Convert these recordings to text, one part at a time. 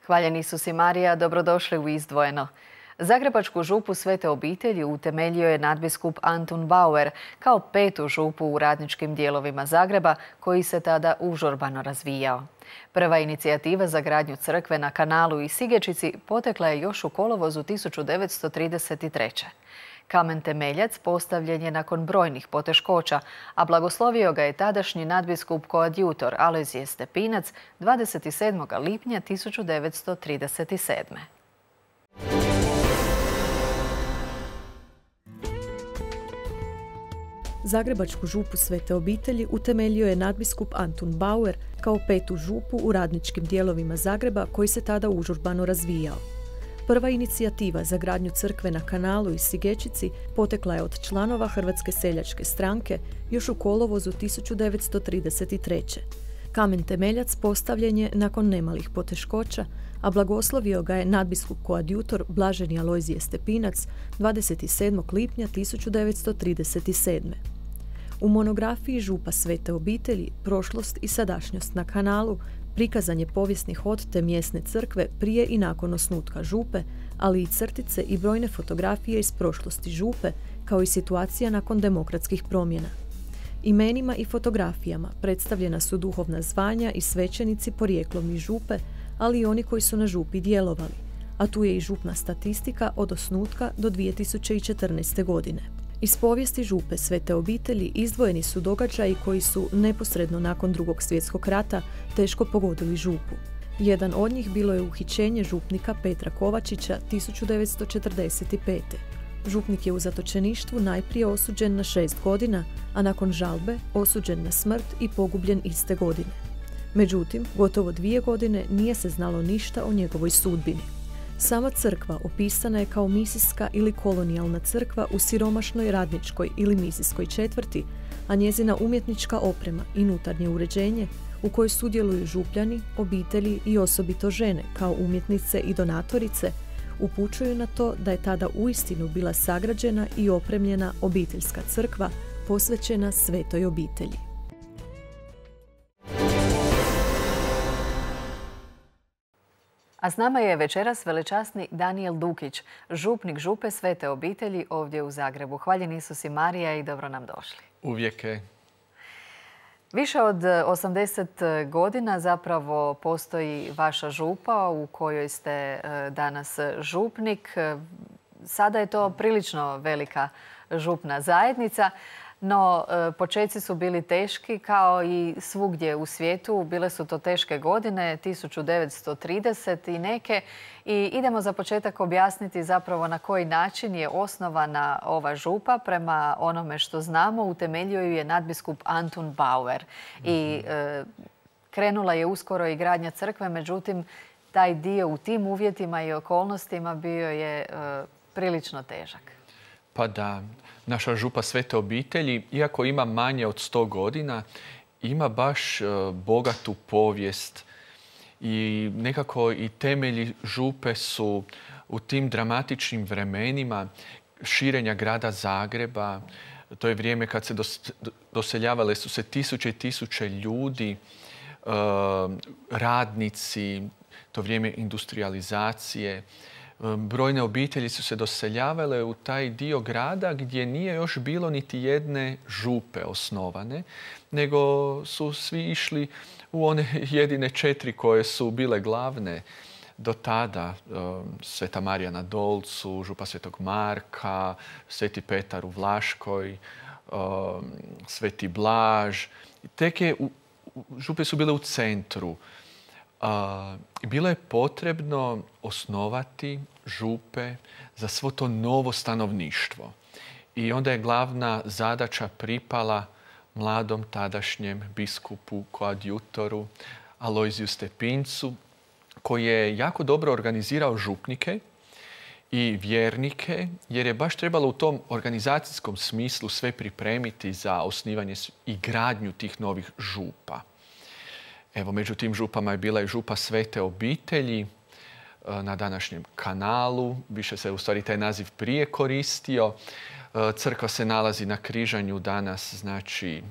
Hvaljeni Isus i Marija, dobrodošli u Izdvojeno. Zagrebačku župu Svete obitelji utemeljio je nadbiskup Antun Bauer kao petu župu u radničkim dijelovima Zagreba koji se tada užurbano razvijao. Prva inicijativa za gradnju crkve na Kanalu i Sigečici potekla je još u kolovozu 1933. Kamen temeljac postavljen je nakon brojnih poteškoća, a blagoslovio ga je tadašnji nadbiskup koadjutor Alojzije Stepinac 27. lipnja 1937. Zagrebačku župu Svete obitelji utemeljio je nadbiskup Antun Bauer kao petu župu u radničkim dijelovima Zagreba koji se tada užurbano razvijao. Prva inicijativa za gradnju crkve na Kanalu i Sigečici potekla je od članova Hrvatske seljačke stranke još u kolovozu 1933. Kamen temeljac postavljen je nakon nemalih poteškoća, a blagoslovio ga je nadbiskup koadjutor blaženi Alojzije Stepinac 27. lipnja 1937. U monografiji Župa Svete obitelji, prošlost i sadašnjost na Kanalu prikazan je povijesni hod te mjesne crkve prije i nakon osnutka župe, ali i crtice i brojne fotografije iz prošlosti župe, kao i situacija nakon demokratskih promjena. Imenima i fotografijama predstavljena su duhovna zvanja i svećenici porijeklom iz župe, ali i oni koji su na župi djelovali, a tu je i župna statistika od osnutka do 2014. godine. Iz povijesti župe Svete obitelji izdvojeni su događaji koji su neposredno nakon Drugog svjetskog rata teško pogodili župu. Jedan od njih bilo je uhićenje župnika Petra Kovačića 1945. Župnik je u zatočeništvu najprije osuđen na 6 godina, a nakon žalbe osuđen na smrt i pogubljen iste godine. Međutim, gotovo 2 godine nije se znalo ništa o njegovoj sudbini. Sama crkva opisana je kao misijska ili kolonijalna crkva u siromašnoj radničkoj ili misijskoj četvrti, a njezina umjetnička oprema i unutarnje uređenje u kojoj sudjeluju župljani, obitelji i osobito žene kao umjetnice i donatorice upućuju na to da je tada uistinu bila sagrađena i opremljena obiteljska crkva posvećena Svetoj obitelji. A s nama je večeras velečasni Danijel Dukić, župnik župe Svete obitelji ovdje u Zagrebu. Hvaljeni Isus i Marija i dobro nam došli. Uvijek. Više od 80 godina zapravo postoji vaša župa u kojoj ste danas župnik. Sada je to prilično velika župna zajednica. No, počeci su bili teški kao i svugdje u svijetu. Bile su to teške godine, 1930 i neke. I idemo za početak objasniti zapravo na koji način je osnovana ova župa. Prema onome što znamo, utemeljio ju je nadbiskup Antun Bauer. I krenula je uskoro i gradnja crkve, međutim, taj dio u tim uvjetima i okolnostima bio je prilično težak. Pa da, naša župa Svete obitelji, iako ima manje od 100 godina, ima baš bogatu povijest i nekako i temelji župe su u tim dramatičnim vremenima širenja grada Zagreba. To je vrijeme kad se doseljavale su se tisuće i tisuće ljudi, radnici, to vrijeme industrijalizacije. Brojne obitelji su se doseljavale u taj dio grada gdje nije još bilo niti jedne župe osnovane, nego su svi išli u one jedine 4 koje su bile glavne do tada. Sveta Marija na Dolcu, župa Svetog Marka, Sveti Petar u Vlaškoj, Sveti Blaž. Župe su bile u centru. Bilo je potrebno osnovati župe za svo to novo stanovništvo. I onda je glavna zadaća pripala mladom tadašnjem biskupu koadjutoru Alojziju Stepincu, koji je jako dobro organizirao župnike i vjernike, jer je baš trebalo u tom organizacijskom smislu sve pripremiti za osnivanje i gradnju tih novih župa. Evo, među tim župama je bila i župa Svete obitelji na današnjem Kanalu. Više se u stvari taj naziv prije koristio. Crkva se nalazi na križanju danas, znači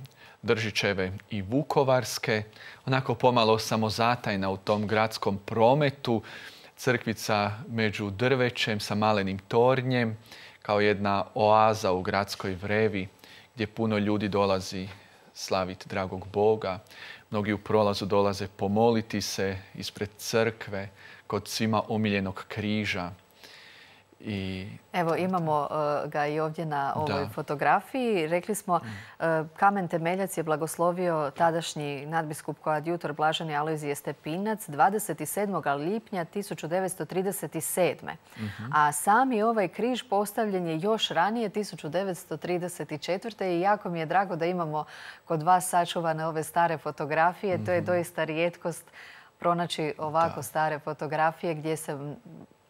Držićeve i Vukovarske. Onako pomalo samozatajna u tom gradskom prometu. Crkvica među drvećem sa malenim tornjem, kao jedna oaza u gradskoj vrevi gdje puno ljudi dolazi slaviti dragog Boga. Mnogi u prolazu dolaze pomoliti se ispred crkve kod svima omiljenog križa. Evo, imamo ga i ovdje na ovoj fotografiji. Rekli smo, kamen temeljac je blagoslovio tadašnji nadbiskup koadjutor Blaženi Alojzije Stepinac 27. lipnja 1937. A sami ovaj križ postavljen je još ranije, 1934. I jako mi je drago da imamo kod vas sačuvane ove stare fotografije. To je doista rijetkost pronaći ovako stare fotografije gdje se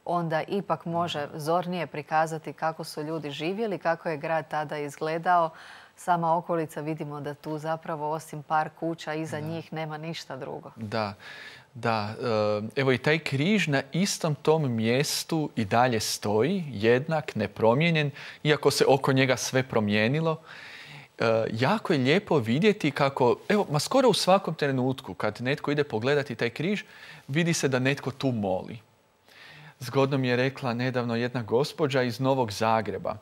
onda ipak može zornije prikazati kako su ljudi živjeli, kako je grad tada izgledao. Sama okolica, vidimo da tu zapravo osim par kuća iza njih nema ništa drugo. Da. Evo i taj križ na istom tom mjestu i dalje stoji, jednak, nepromijenjen, iako se oko njega sve promijenilo. Jako je lijepo vidjeti kako, skoro u svakom trenutku kad netko ide pogledati taj križ, vidi se da netko tu moli. Zgodno mi je rekla nedavno jedna gospođa iz Novog Zagreba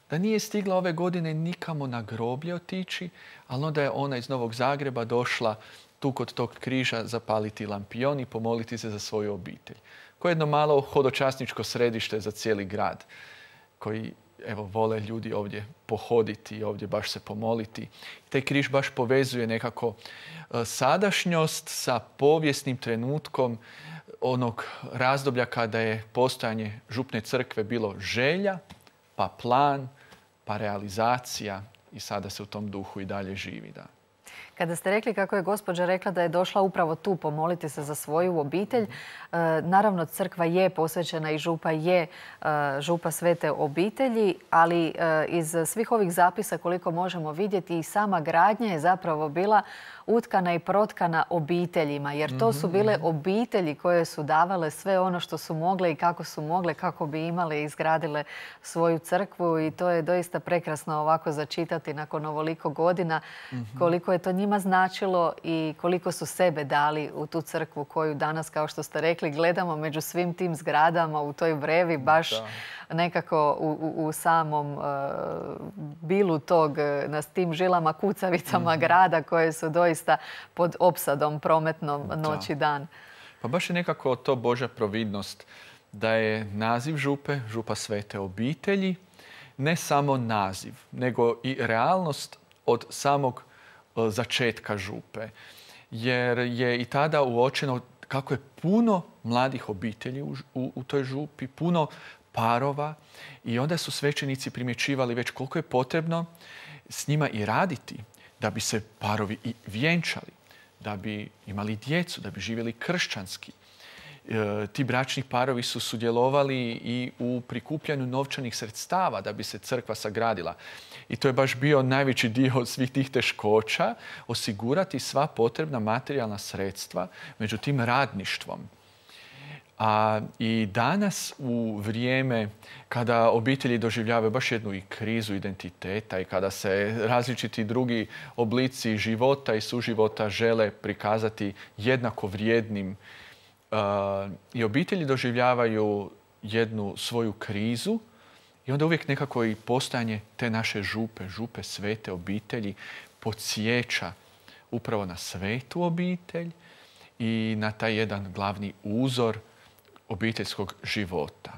da nije stigla ove godine nikamo na groblje otići, ali onda je ona iz Novog Zagreba došla tu kod tog križa zapaliti lampion i pomoliti se za svoju obitelj. Koje je jedno malo hodočasničko središte za cijeli grad koji vole ljudi ovdje pohoditi i ovdje baš se pomoliti. Taj križ baš povezuje nekako sadašnjost sa povijesnim trenutkom onog razdoblja kada je postojanje župne crkve bilo želja, pa plan, pa realizacija i sada se u tom duhu i dalje živi. Da. Kada ste rekli kako je gospođa rekla da je došla upravo tu pomoliti se za svoju obitelj, naravno crkva je posvećena i župa je župa Svete obitelji, ali iz svih ovih zapisa koliko možemo vidjeti i sama gradnja je zapravo bila utkana i protkana obiteljima, jer to su bile obitelji koje su davale sve ono što su mogle i kako su mogle, kako bi imale i izgradile svoju crkvu i to je doista prekrasno ovako začitati nakon ovoliko godina koliko je to njima značilo i koliko su sebe dali u tu crkvu koju danas, kao što ste rekli, gledamo među svim tim zgradama u toj vrevi, baš nekako u samom bilu tog, na tim žilama, kucavicama grada koje su doista pod opsadom prometnom noć i dan. Pa baš je nekako to Božja providnost da je naziv župe, župa Svete obitelji, ne samo naziv, nego i realnost od samog začetka župe. Jer je i tada uočeno kako je puno mladih obitelji u toj župi, puno parova i onda su svećenici primjećivali već koliko je potrebno s njima i raditi da bi se parovi i vjenčali, da bi imali djecu, da bi živjeli kršćanski. Ti bračni parovi su sudjelovali i u prikupljanju novčanih sredstava da bi se crkva sagradila. I to je baš bio najveći dio svih tih teškoća, osigurati sva potrebna materijalna sredstva među tim radništvom. I danas u vrijeme kada obitelji doživljavaju baš jednu i krizu identiteta i kada se različiti drugi oblici života i suživota žele prikazati jednako vrijednim i obitelji doživljavaju jednu svoju krizu i onda uvijek nekako i postojanje te naše župe Svete obitelji podsjeća upravo na svetu obitelj i na taj jedan glavni uzor obiteljskog života.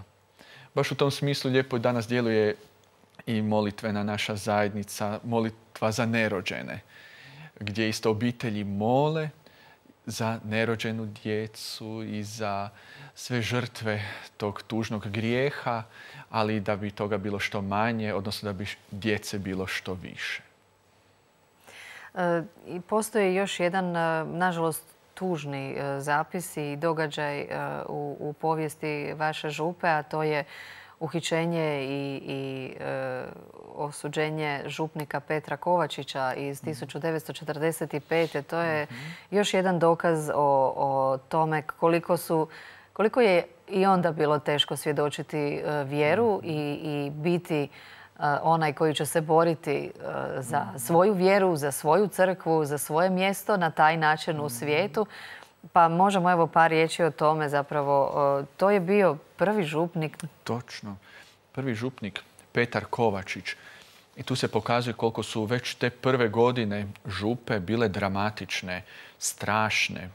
Baš u tom smislu lijepo danas djeluje i molitvena naša zajednica, molitva za nerođene, gdje isto obitelji mole za nerođenu djecu i za sve žrtve tog tužnog grijeha, ali da bi toga bilo što manje, odnosno da bi djece bilo što više. I postoji još jedan, nažalost, tužni zapis i događaj u povijesti vaše župe, a to je uhićenje i osuđenje župnika Petra Kovačića iz 1945. To je još jedan dokaz o tome koliko je i onda bilo teško svjedočiti vjeru i biti onaj koji će se boriti za svoju vjeru, za svoju crkvu, za svoje mjesto na taj način u svijetu. Pa možemo evo par riječi o tome zapravo. To je bio prvi župnik. Točno. Prvi župnik Petar Kovačić. I tu se pokazuje koliko su već te prve godine župe bile dramatične, strašne.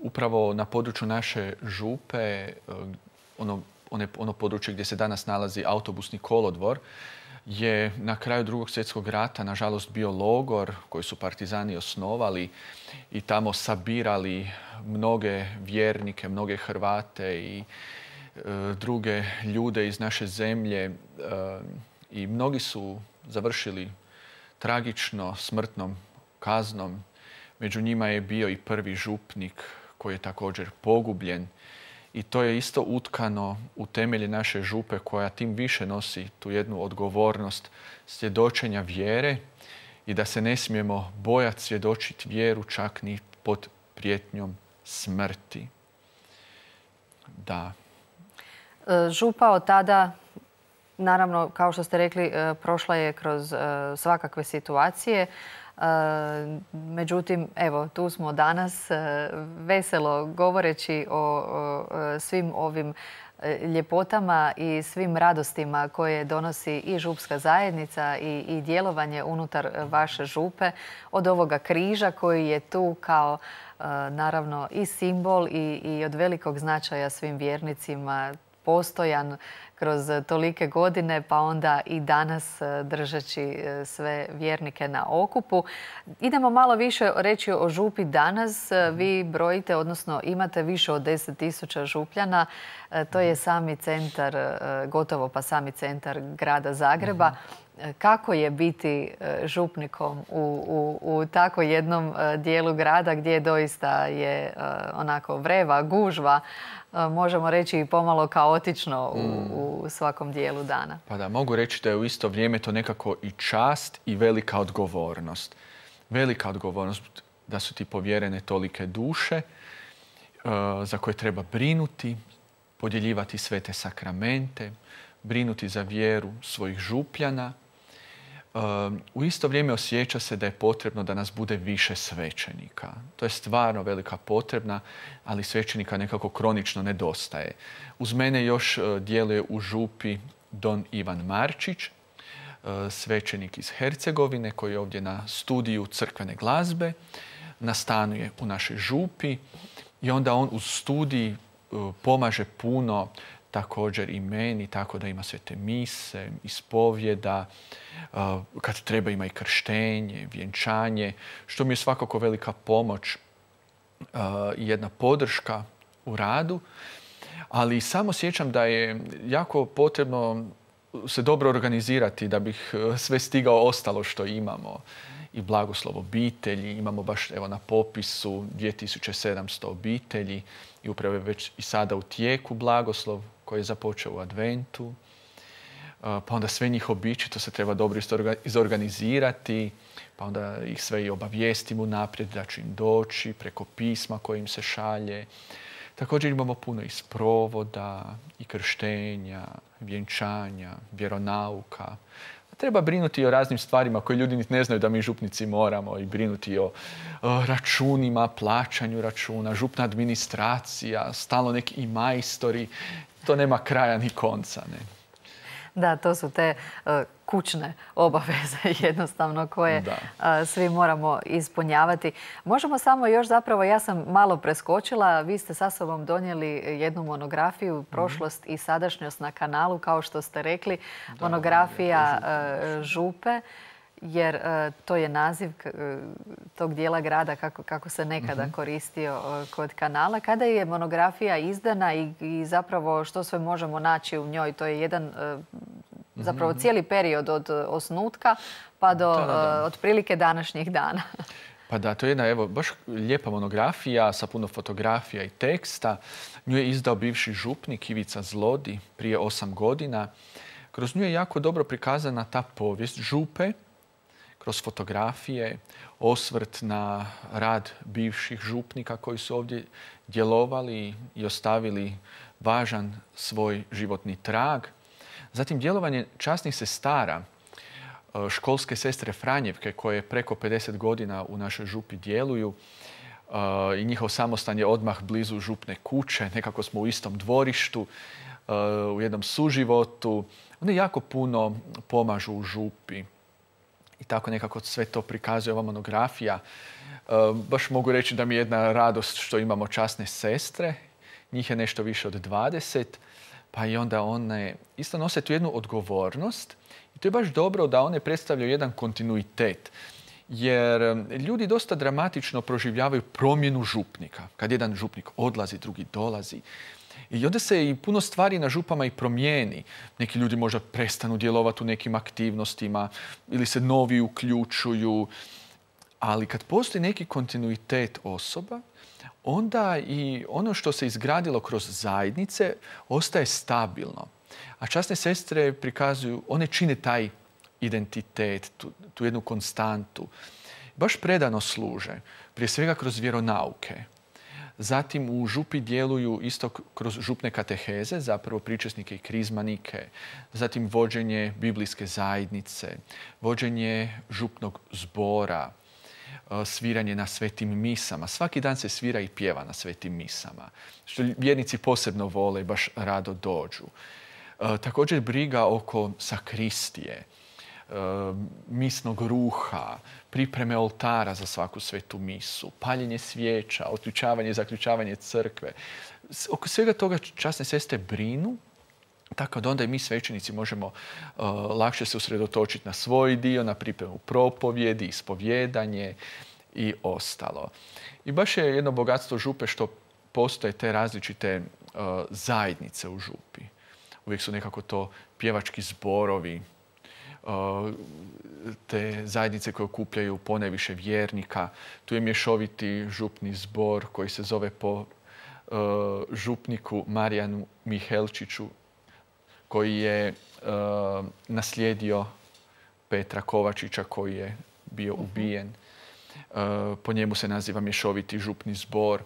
Upravo na području naše župe, ono područje gdje se danas nalazi autobusni kolodvor, je na kraju Drugog svjetskog rata, nažalost, bio logor koji su partizani osnovali i tamo sabirali mnoge vjernike, mnoge Hrvate i druge ljude iz naše zemlje. I mnogi su završili tragično smrtnom kaznom. Među njima je bio i prvi župnik koji je također pogubljen. I to je isto utkano u temelje naše župe koja tim više nosi tu jednu odgovornost svjedočenja vjere i da se ne smijemo bojati svjedočiti vjeru čak ni pod prijetnjom smrti. Da. Župa od tada, naravno, kao što ste rekli, prošla je kroz svakakve situacije. Međutim, evo, tu smo danas veselo govoreći o svim ovim ljepotama i svim radostima koje donosi i župska zajednica i djelovanje unutar vaše župe. Od ovoga križa koji je tu kao naravno i simbol i od velikog značaja svim vjernicima, postojan kroz tolike godine, pa onda i danas držeći sve vjernike na okupu. Idemo malo više reći o župi danas. Vi brojite, odnosno imate više od 10.000 župljana. To je sami centar, gotovo pa sami centar grada Zagreba. Kako je biti župnikom u tako jednom dijelu grada gdje doista je onako vreva, gužva, možemo reći i pomalo kaotično u svakom dijelu dana? Pa da, mogu reći da je u isto vrijeme to nekako i čast i velika odgovornost. Velika odgovornost da su ti povjerene tolike duše za koje treba brinuti, podjeljivati svete sakramente, brinuti za vjeru svojih župljana. U isto vrijeme osjeća se da je potrebno da nas bude više svećenika. To je stvarno velika potrebna, ali svećenika nekako kronično nedostaje. Uz mene još djeluje u župi don Ivan Marčić, svećenik iz Hercegovine koji je ovdje na studiju crkvene glazbe, nastanuje u našoj župi i onda on uz studij pomaže puno također i meni, tako da ima svete mise, ispovjeda, kad treba ima i krštenje, vjenčanje, što mi je svakako velika pomoć i jedna podrška u radu. Ali samo sjećam da je jako potrebno se dobro organizirati da bih sve stigao ostalo što imamo. I blagoslov obitelji, imamo baš evo na popisu 2700 obitelji i upravo je već i sada u tijeku blagoslov koji je započeo u adventu. Pa onda sve njih obići, to se treba dobro izorganizirati, pa onda ih sve i obavijestim unaprijed da će im doći preko pisma koje im se šalje. Također imamo puno i sprovoda, i krštenja, vjenčanja, vjeronauka. Treba brinuti o raznim stvarima koje ljudi ne znaju da mi župnici moramo i brinuti o računima, plaćanju računa, župna administracija, stalno neki i majstori. To nema kraja ni konca. Ne? Da, to su te kućne obaveze jednostavno koje svi moramo ispunjavati. Možemo samo još zapravo, ja sam malo preskočila, vi ste sa sobom donijeli jednu monografiju, prošlost i sadašnjost na kanalu, kao što ste rekli, monografija župe, jer to je naziv tog dijela grada kako se nekada koristio kod kanala. Kada je monografija izdana i zapravo što sve možemo naći u njoj? To je jedan zapravo cijeli period od osnutka pa do otprilike današnjih dana. Pa da, to je jedna evo, baš lijepa monografija sa puno fotografija i teksta. Nju je izdao bivši župnik Ivica Zlodi prije 8 godina. Kroz nju je jako dobro prikazana ta povijest župe, kroz fotografije, osvrt na rad bivših župnika koji su ovdje djelovali i ostavili važan svoj životni trag. Zatim djelovanje časnih sestara, školske sestre Franjevke koje preko 50 godina u našoj župi djeluju i njihov samostan je odmah blizu župne kuće. Nekako smo u istom dvorištu, u jednom suživotu. One jako puno pomažu u župi. I tako nekako sve to prikazuje ova monografija. Baš mogu reći da mi je jedna radost što imamo časne sestre. Njih je nešto više od 20. Pa i onda one isto nose tu jednu odgovornost. I to je baš dobro da one predstavljaju jedan kontinuitet. Jer ljudi dosta dramatično proživljavaju promjenu župnika. Kad jedan župnik odlazi, drugi dolazi. I onda se i puno stvari na župama i promijeni. Neki ljudi možda prestanu djelovati u nekim aktivnostima ili se novi uključuju. Ali kad postoji neki kontinuitet osoba, onda i ono što se izgradilo kroz zajednice ostaje stabilno. A časne sestre prikazuju, one čine taj identitet, tu jednu konstantu. Baš predano služe, prije svega kroz vjeronauke. Zatim u župi djeluju isto kroz župne kateheze, zapravo pričesnike i krizmanike. Zatim vođenje biblijske zajednice, vođenje župnog zbora, sviranje na svetim misama. Svaki dan se svira i pjeva na svetim misama, što vjernici posebno vole i baš rado dođu. Također briga oko sakristije, misnog ruha, pripreme oltara za svaku svetu misu, paljenje svijeća, otključavanje i zaključavanje crkve. Oko svega toga časne sestre brinu, tako da onda i mi svećenici možemo lakše se usredotočiti na svoj dio, na pripremu propovjedi, ispovjedanje i ostalo. I baš je jedno bogatstvo župe što postoje te različite zajednice u župi. Uvijek su nekako to pjevački zborovi, te zajednice koje okupljaju ponajviše vjernika. Tu je mješoviti župni zbor koji se zove po župniku Marijanu Mihelčiću, koji je naslijedio Petra Kovačića koji je bio ubijen. Po njemu se naziva mješoviti župni zbor.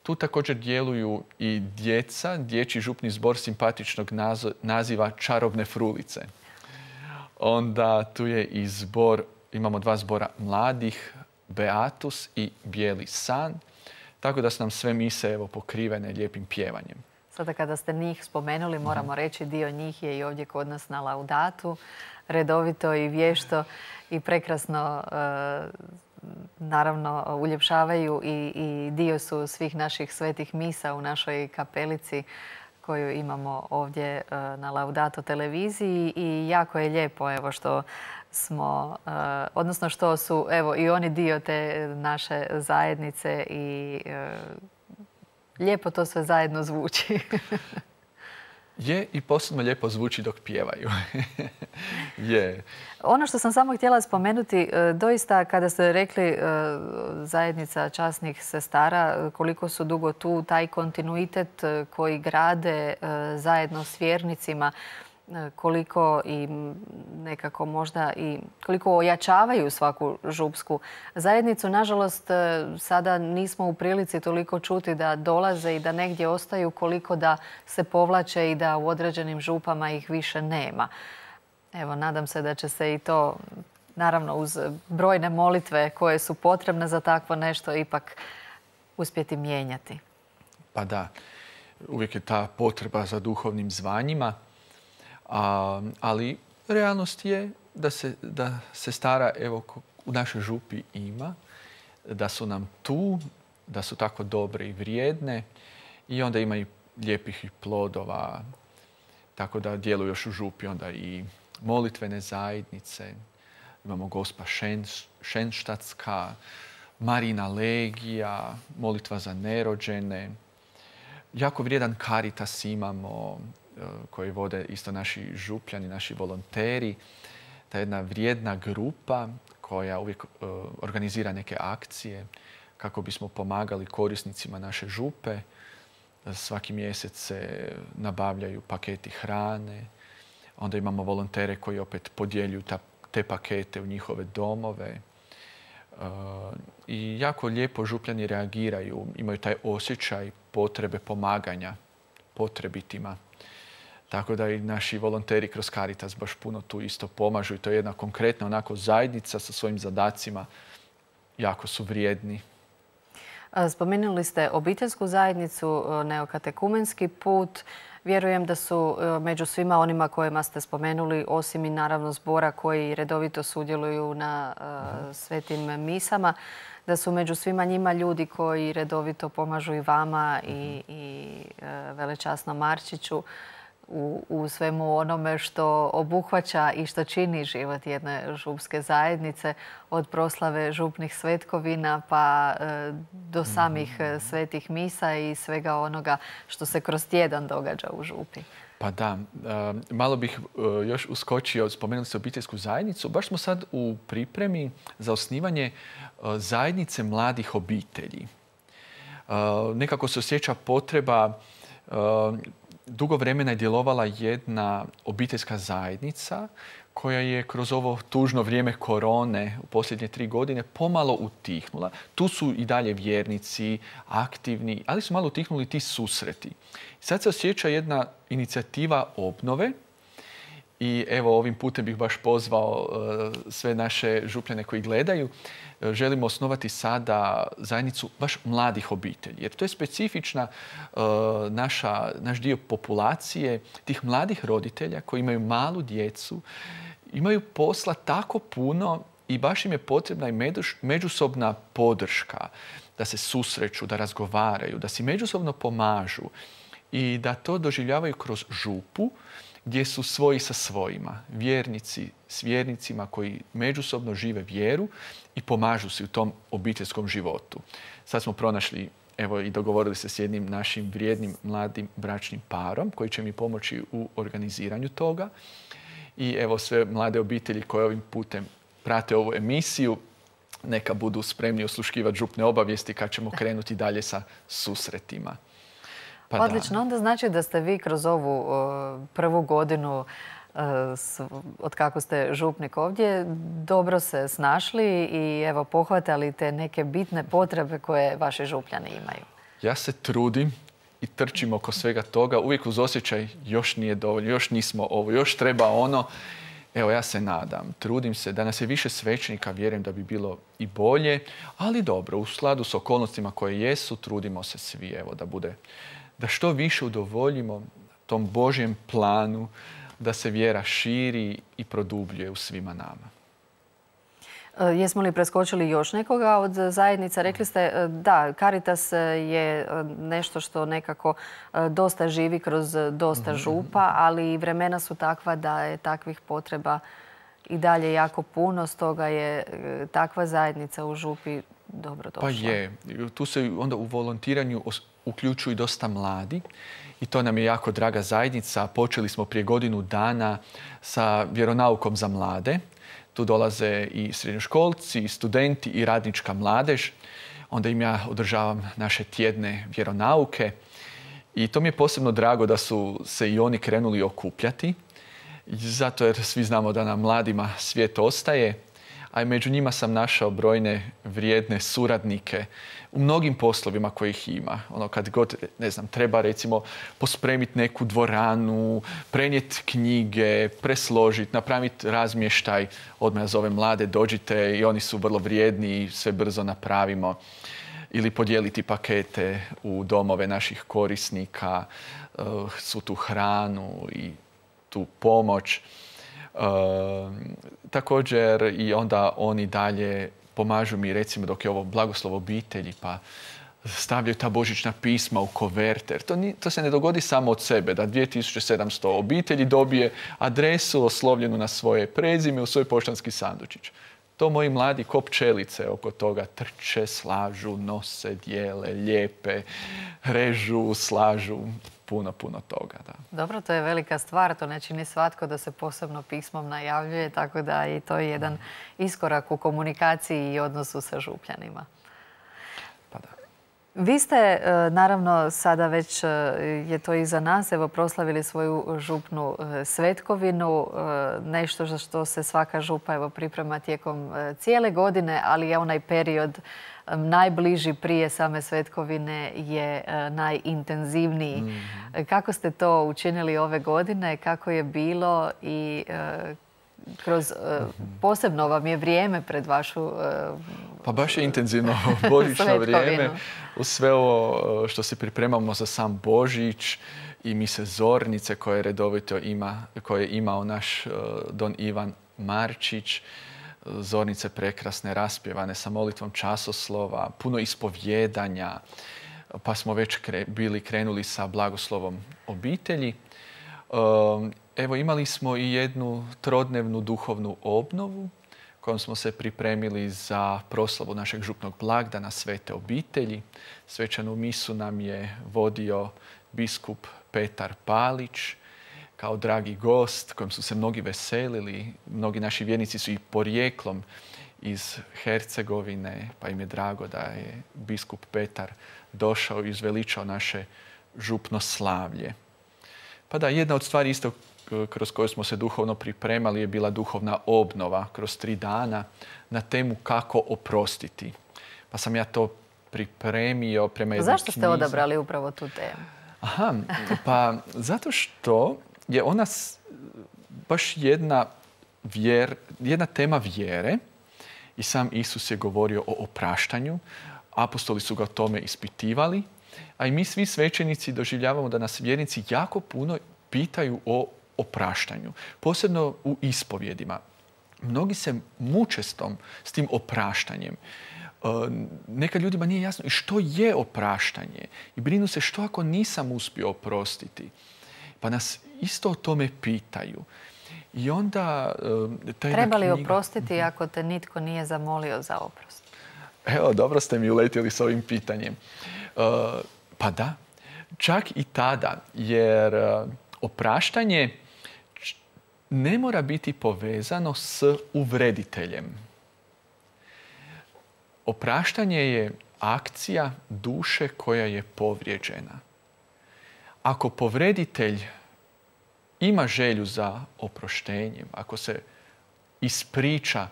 Tu također djeluju i djeca. Dječji župni zbor simpatičnog naziva Čarobne frulice. Onda tu je i zbor, imamo 2 zbora mladih, Beatus i Bijeli san. Tako da su nam sve mise pokrivene lijepim pjevanjem. Sada kada ste njih spomenuli, moramo reći dio njih je i ovdje kod nas na Laudatu. Redovito i vješto i prekrasno naravno uljepšavaju i dio su svih naših svetih misa u našoj kapelici koju imamo ovdje na Laudato televiziji i jako je lijepo što smo, odnosno što su i oni dio te naše zajednice i lijepo to sve zajedno zvuči. Je i posebno lijepo zvuči dok pjevaju. Je. Ono što sam samo htjela spomenuti, doista kada ste rekli zajednica časnih sestara, koliko su dugo tu, taj kontinuitet koji grade zajedno s vjernicima, koliko i nekako možda i koliko ojačavaju svaku župsku zajednicu. Nažalost, sada nismo u prilici toliko čuti da dolaze i da negdje ostaju, koliko da se povlače i da u određenim župama ih više nema. Evo, nadam se da će se i to, naravno uz brojne molitve koje su potrebne za takvo nešto, ipak uspjeti mijenjati. Pa da, uvijek je ta potreba za duhovnim zvanjima. Ali realnost je da se stara u našoj župi ima, da su nam tu, da su tako dobre i vrijedne i onda ima i lijepih i plodova. Tako da djeluju još u župi onda i molitvene zajednice. Imamo Gospa Šenštatska, Marina legija, molitva za nerođene. Jako vrijedan Caritas imamo koji vode isto naši župljani, naši volonteri. Ta jedna vrijedna grupa koja uvijek organizira neke akcije kako bismo pomagali korisnicima naše župe. Svaki mjesec se nabavljaju paketi hrane. Onda imamo volontere koji opet podjeljuju te pakete u njihove domove. I jako lijepo župljani reagiraju, imaju taj osjećaj potrebe pomaganja potrebitima. Tako da i naši volonteri kroz Caritas baš puno tu isto pomažu i to je jedna konkretna onako zajednica sa svojim zadacima. Jako su vrijedni. Spomenuli ste obiteljsku zajednicu, neokatekumenski put. Vjerujem da su među svima onima kojima ste spomenuli, osim i naravno zbora koji redovito sudjeluju na svetim misama, da su među svima njima ljudi koji redovito pomažu i vama i velečasnom Marčiću u svemu onome što obuhvaća i što čini život jedne župske zajednice, od proslave župnih svetkovina pa do samih svetih misa i svega onoga što se kroz tjedan događa u župi. Pa da, malo bih još uskočio, spomenuli ste obiteljsku zajednicu. Baš smo sad u pripremi za osnivanje zajednice mladih obitelji. Nekako se osjeća potreba. Dugo vremena je djelovala jedna obiteljska zajednica koja je kroz ovo tužno vrijeme korone u posljednje 3 godine pomalo utihnula. Tu su i dalje vjernici, aktivni, ali su malo utihnuli ti susreti. Sad se osjeća jedna inicijativa obnove i evo ovim putem bih baš pozvao sve naše župljane koji gledaju. Želimo osnovati sada zajednicu baš mladih obitelji. Jer to je specifična naš dio populacije, tih mladih roditelja koji imaju malu djecu, imaju posla tako puno i baš im je potrebna i međusobna podrška, da se susreću, da razgovaraju, da si međusobno pomažu i da to doživljavaju kroz župu, gdje su svoji sa svojima, vjernici s vjernicima koji međusobno žive vjeru i pomažu se u tom obiteljskom životu. Sad smo pronašli, evo i dogovorili se s jednim našim vrijednim mladim bračnim parom koji će mi pomoći u organiziranju toga. I evo sve mlade obitelji koje ovim putem prate ovu emisiju, neka budu spremni osluškivati župne obavijesti kad ćemo krenuti dalje sa susretima. Pa odlično, onda znači da ste vi kroz ovu prvu godinu od kako ste župnik ovdje dobro se snašli i evo pohvatali te neke bitne potrebe koje vaši župljani imaju. Ja se trudim i trčim oko svega toga, uvijek uz osjećaj još nije dovoljno, još nismo ovo, još treba ono. Evo, ja se nadam, trudim se da nas je više svećenika, vjerujem da bi bilo i bolje, ali dobro, u skladu s okolnostima koje jesu, trudimo se svi, evo, da što više udovoljimo tom Božjem planu, da se vjera širi i produbljuje u svima nama. Jesmo li preskočili još nekoga od zajednica? Rekli ste da, Caritas je nešto što nekako dosta živi kroz dosta župa, ali vremena su takva da je takvih potreba i dalje jako puno, stoga je takva zajednica u župi dobrodošla. Pa je. Tu se onda u volontiranju uključuju dosta mladi i to nam je jako draga zajednica. Počeli smo prije godinu dana sa vjeronaukom za mlade. Tu dolaze i srednjoškolci, i studenti, i radnička mladež. Onda im ja održavam naše tjedne vjeronauke. I to mi je posebno drago da su se i oni krenuli okupljati. Zato jer svi znamo da nam mladima svijet ostaje. A i među njima sam našao brojne vrijedne suradnike u mnogim poslovima kojih ima. Kad god, ne znam, treba recimo pospremiti neku dvoranu, prenijeti knjige, presložiti, napraviti razmještaj. Odmah ja zovem mlade, dođite i oni su vrlo vrijedni i sve brzo napravimo. Ili podijeliti pakete u domove naših korisnika, svu tu hranu i tu pomoć. Također i onda oni dalje pomažu mi, recimo dok je ovo blagoslov obitelji, pa stavljaju ta božićna pisma u koverter. To se ne dogodi samo od sebe, da 2700 obitelji dobije adresu oslovljenu na svoje prezime u svoj poštanski sandučić. To moji mladi ko pčelice oko toga trče, slažu, nose, dijele, lijepe, režu, slažu. Puno toga, da. Dobro, to je velika stvar. To ne čini svatko da se posebno pismom najavljuje, tako da i to je jedan iskorak u komunikaciji i odnosu sa župljanima. Pa da. Vi ste, naravno, sada već je to iza nas, evo, proslavili svoju župnu svetkovinu, nešto za što se svaka župa evo priprema tijekom cijele godine, ali je onaj period najbliži prije same svetkovine je najintenzivniji. Kako ste to učinili ove godine? Kako je bilo i kroz posebno vam je vrijeme pred vašu Pa baš je intenzivno božićno vrijeme. Uz sve ovo što se pripremamo za sam Božić i mise zornice koje redovito koje je imao naš don Ivan Marčić. Zornice prekrasne, raspjevane sa molitvom časoslova, puno ispovjedanja, pa smo već bili krenuli sa blagoslovom obitelji. Evo, imali smo i jednu trodnevnu duhovnu obnovu kojom smo se pripremili za proslavu našeg župnog blagdana Svete obitelji. Svečanu misu nam je vodio biskup Petar Palić kao dragi gost kojem su se mnogi veselili. Mnogi naši vjernici su i porijeklom iz Hercegovine, pa im je drago da je biskup Petar došao i izveličao naše župno slavlje. Pa da, jedna od stvari isto kroz koju smo se duhovno pripremali je bila duhovna obnova kroz 3 dana na temu kako oprostiti. Pa sam ja to pripremio prema jednoj knjizi. Zašto ste odabrali upravo tu temu? Aha, pa zato što je ona baš jedna tema vjere i sam Isus je govorio o opraštanju. Apostoli su ga o tome ispitivali, a i mi svi svećenici doživljavamo da nas vjernici jako puno pitaju o opraštanju, posebno u ispovjedima. Mnogi se muče s tim opraštanjem. Nekad ljudima nije jasno i što je opraštanje i brinu se što ako nisam uspio oprostiti. Pa nas isto o tome pitaju. I onda treba li oprostiti ako te nitko nije zamolio za oprost? Evo, dobro ste mi uletjeli s ovim pitanjem. Pa da, čak i tada, jer opraštanje ne mora biti povezano s uvrediteljem. Opraštanje je akcija duše koja je povrijeđena. Ako povreditelj ima želju za oproštenjem, ako se ispriča,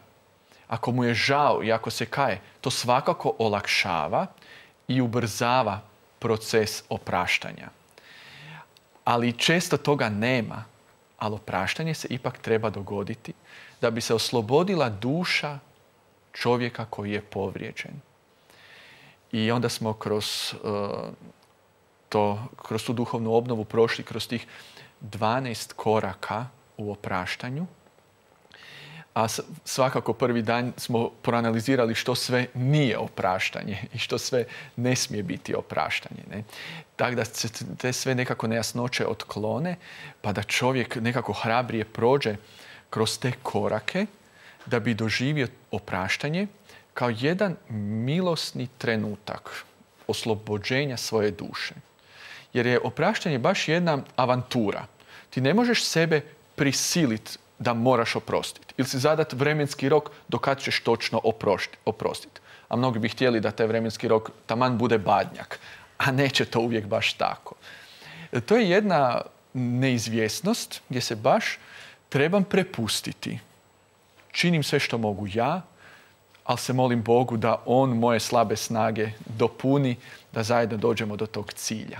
ako mu je žao i ako se kaje, to svakako olakšava i ubrzava proces opraštanja. Ali često toga nema, ali opraštanje se ipak treba dogoditi da bi se oslobodila duša čovjeka koji je povrijeđen. I onda smo kroz tu duhovnu obnovu prošli kroz tih 12 koraka u opraštanju. A svakako prvi dan smo proanalizirali što sve nije opraštanje i što sve ne smije biti opraštanje. Ne? Tako da se te sve nekako nejasnoće otklone, pa da čovjek nekako hrabrije prođe kroz te korake da bi doživio opraštanje kao jedan milosni trenutak oslobođenja svoje duše. Jer je opraštanje baš jedna avantura. Ti ne možeš sebe prisiliti da moraš oprostiti. Ili si zadat vremenski rok do kad ćeš točno oprostiti. A mnogi bi htjeli da taj vremenski rok taman bude badnjak. A neće to uvijek baš tako. To je jedna neizvjesnost gdje se baš trebam prepustiti. Činim sve što mogu ja, ali se molim Bogu da On moje slabe snage dopuni, da zajedno dođemo do tog cilja.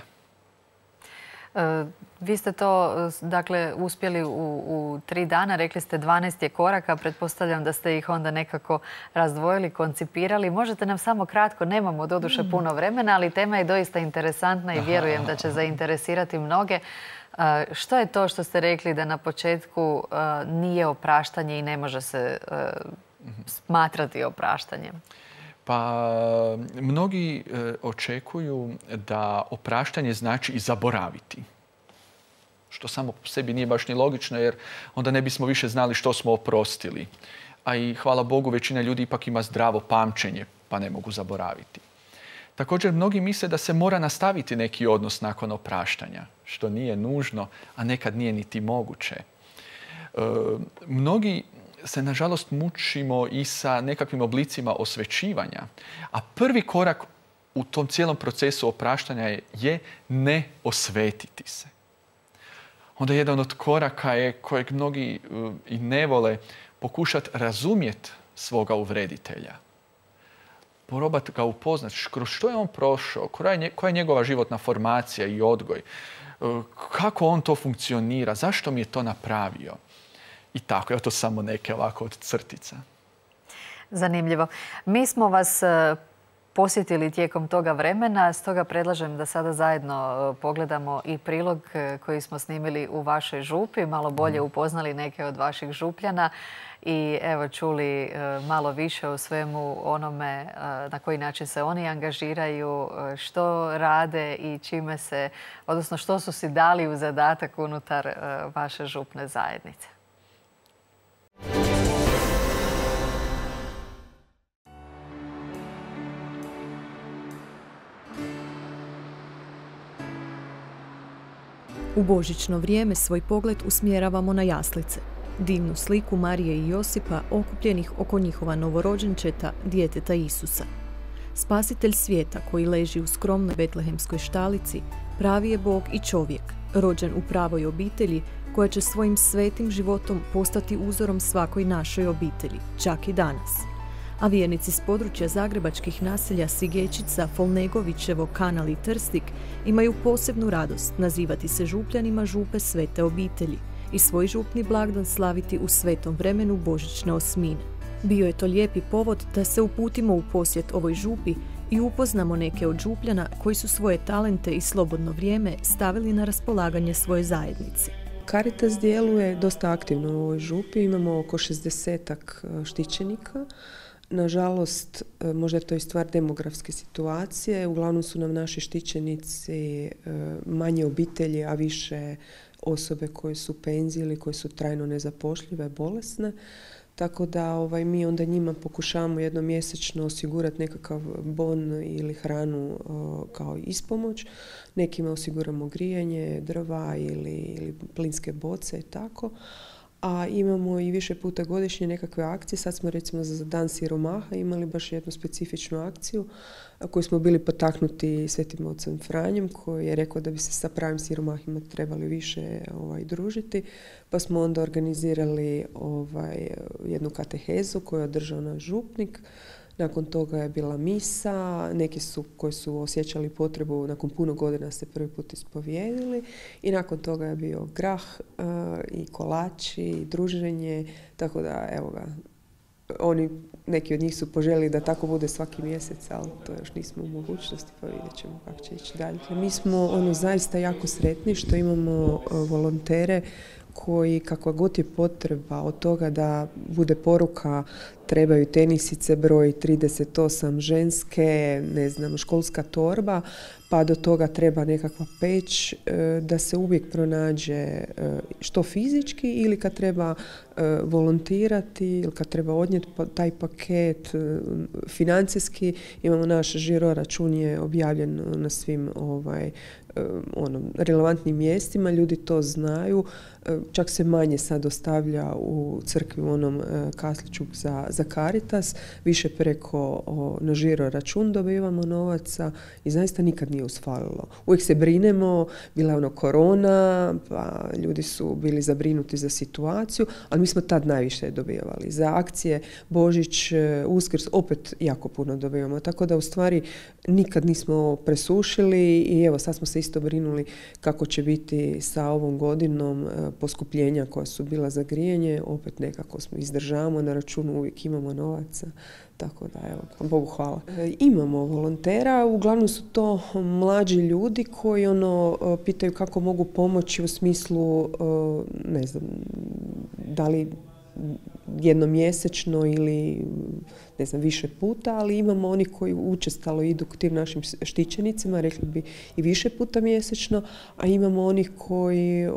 Vi ste to dakle uspjeli u 3 dana, rekli ste 12 je koraka, pretpostavljam da ste ih onda nekako razdvojili, koncipirali. Možete nam samo kratko, nemamo doduše puno vremena, ali tema je doista interesantna i vjerujem da će zainteresirati mnoge. Što je to što ste rekli da na početku nije opraštanje i ne može se smatrati opraštanjem? Pa mnogi očekuju da opraštanje znači i zaboraviti. Što samo po sebi nije baš ni logično, jer onda ne bismo više znali što smo oprostili. A i hvala Bogu, većina ljudi ipak ima zdravo pamćenje, pa ne mogu zaboraviti. Također, mnogi misle da se mora nastaviti neki odnos nakon opraštanja, što nije nužno, a nekad nije niti moguće. Mnogi se, nažalost, mučimo i sa nekakvim oblicima osvećivanja. A prvi korak u tom cijelom procesu opraštanja je ne osvetiti se. Onda jedan od koraka je, kojeg mnogi i ne vole, pokušati razumjeti svoga uvreditelja. Probati ga upoznati, kroz što je on prošao, koja je njegova životna formacija i odgoj, kako on to funkcionira, zašto mi je to napravio. I tako, evo to samo neke ovako od crtica. Zanimljivo. Mi smo vas posjetili tijekom toga vremena, stoga predlažem da sada zajedno pogledamo i prilog koji smo snimili u vašoj župi, malo bolje upoznali neke od vaših župljana i evo čuli malo više o svemu onome na koji način se oni angažiraju, što rade i čime se, odnosno što su si dali u zadatak unutar vaše župne zajednice. U božićno vrijeme svoj pogled usmjeravamo na jaslice, divnu sliku Marije i Josipa okupljenih oko njihova novorođenčeta, djeteta Isusa. Spasitelj svijeta koji leži u skromnoj betlehemskoj štalici, pravi je Bog i čovjek, rođen u pravoj obitelji koja će svojim svetim životom postati uzorom svakoj našoj obitelji, čak i danas. A vjernici s područja zagrebačkih naselja Sigečica, Folnegovićevo, Kanal i Trstik imaju posebnu radost nazivati se župljanima župe Svete obitelji i svoj župni blagdan slaviti u svetom vremenu božićne osmine. Bio je to lijepi povod da se uputimo u posjet ovoj župi i upoznamo neke od župljana koji su svoje talente i slobodno vrijeme stavili na raspolaganje svoje zajednici. Caritas djeluje dosta aktivno u ovoj župi, imamo oko 60-ak štićenika. Nažalost, možda je to i stvar demografske situacije, uglavnom su nam naši štićenici manje obitelji, a više osobe koje su u penziji ili koje su trajno nezapošljive, bolesne. Tako da mi onda njima pokušavamo jednom mjesečno osigurati nekakav bon ili hranu kao ispomoć. Nekima osiguramo grijanje, drva ili plinske boce i tako. A imamo i više puta godišnje nekakve akcije. Sad smo recimo za Dan siromaha imali baš jednu specifičnu akciju koju smo bili potaknuti Svetim ocem Franjem koji je rekao da bi se sa pravim siromahima trebali više družiti. Pa smo onda organizirali jednu katehezu koju je održao naš župnik. Nakon toga je bila misa, neki su koji su osjećali potrebu nakon puno godina se prvi put ispovijedili i nakon toga je bio grah i kolači i druženje, tako da evo ga, neki od njih su poželjeli da tako bude svaki mjesec, ali to još nismo u mogućnosti, pa vidjet ćemo kako će ići dalje. Mi smo zaista jako sretni što imamo volontere koji, kakva god je potreba od toga da bude poruka trebaju tenisice broj 38 ženske, školska torba, pa do toga treba nekakva peć, da se uvijek pronađe što fizički ili kad treba volontirati ili kad treba odnijeti taj paket financijski. Imamo naš žiro račun je objavljen na svim relevantnim mjestima, ljudi to znaju. Čak se manje sad ostavlja u crkvi u onom kasliću za Caritas, više preko na žiro račun dobivamo novaca i zaista nikad nije usfalilo. Uvijek se brinemo, bila je korona, pa ljudi su bili zabrinuti za situaciju, ali mi smo tad najviše dobivali. Za akcije Božić, Uskrs opet jako puno dobivamo, tako da u stvari nikad nismo presušili i evo sad smo se isto brinuli kako će biti sa ovom godinom poskupljenja koja su bila za grijanje, opet nekako smo izdržavamo, na računu uvijek imamo novaca, tako da evo, Bogu hvala. Imamo volontera, uglavnom su to mlađi ljudi koji pitaju kako mogu pomoći u smislu, da li jednomjesečno ili više puta, ali imamo oni koji učestalo idu k tim našim štićenicima, rekli bi i više puta mjesečno, a imamo onih koji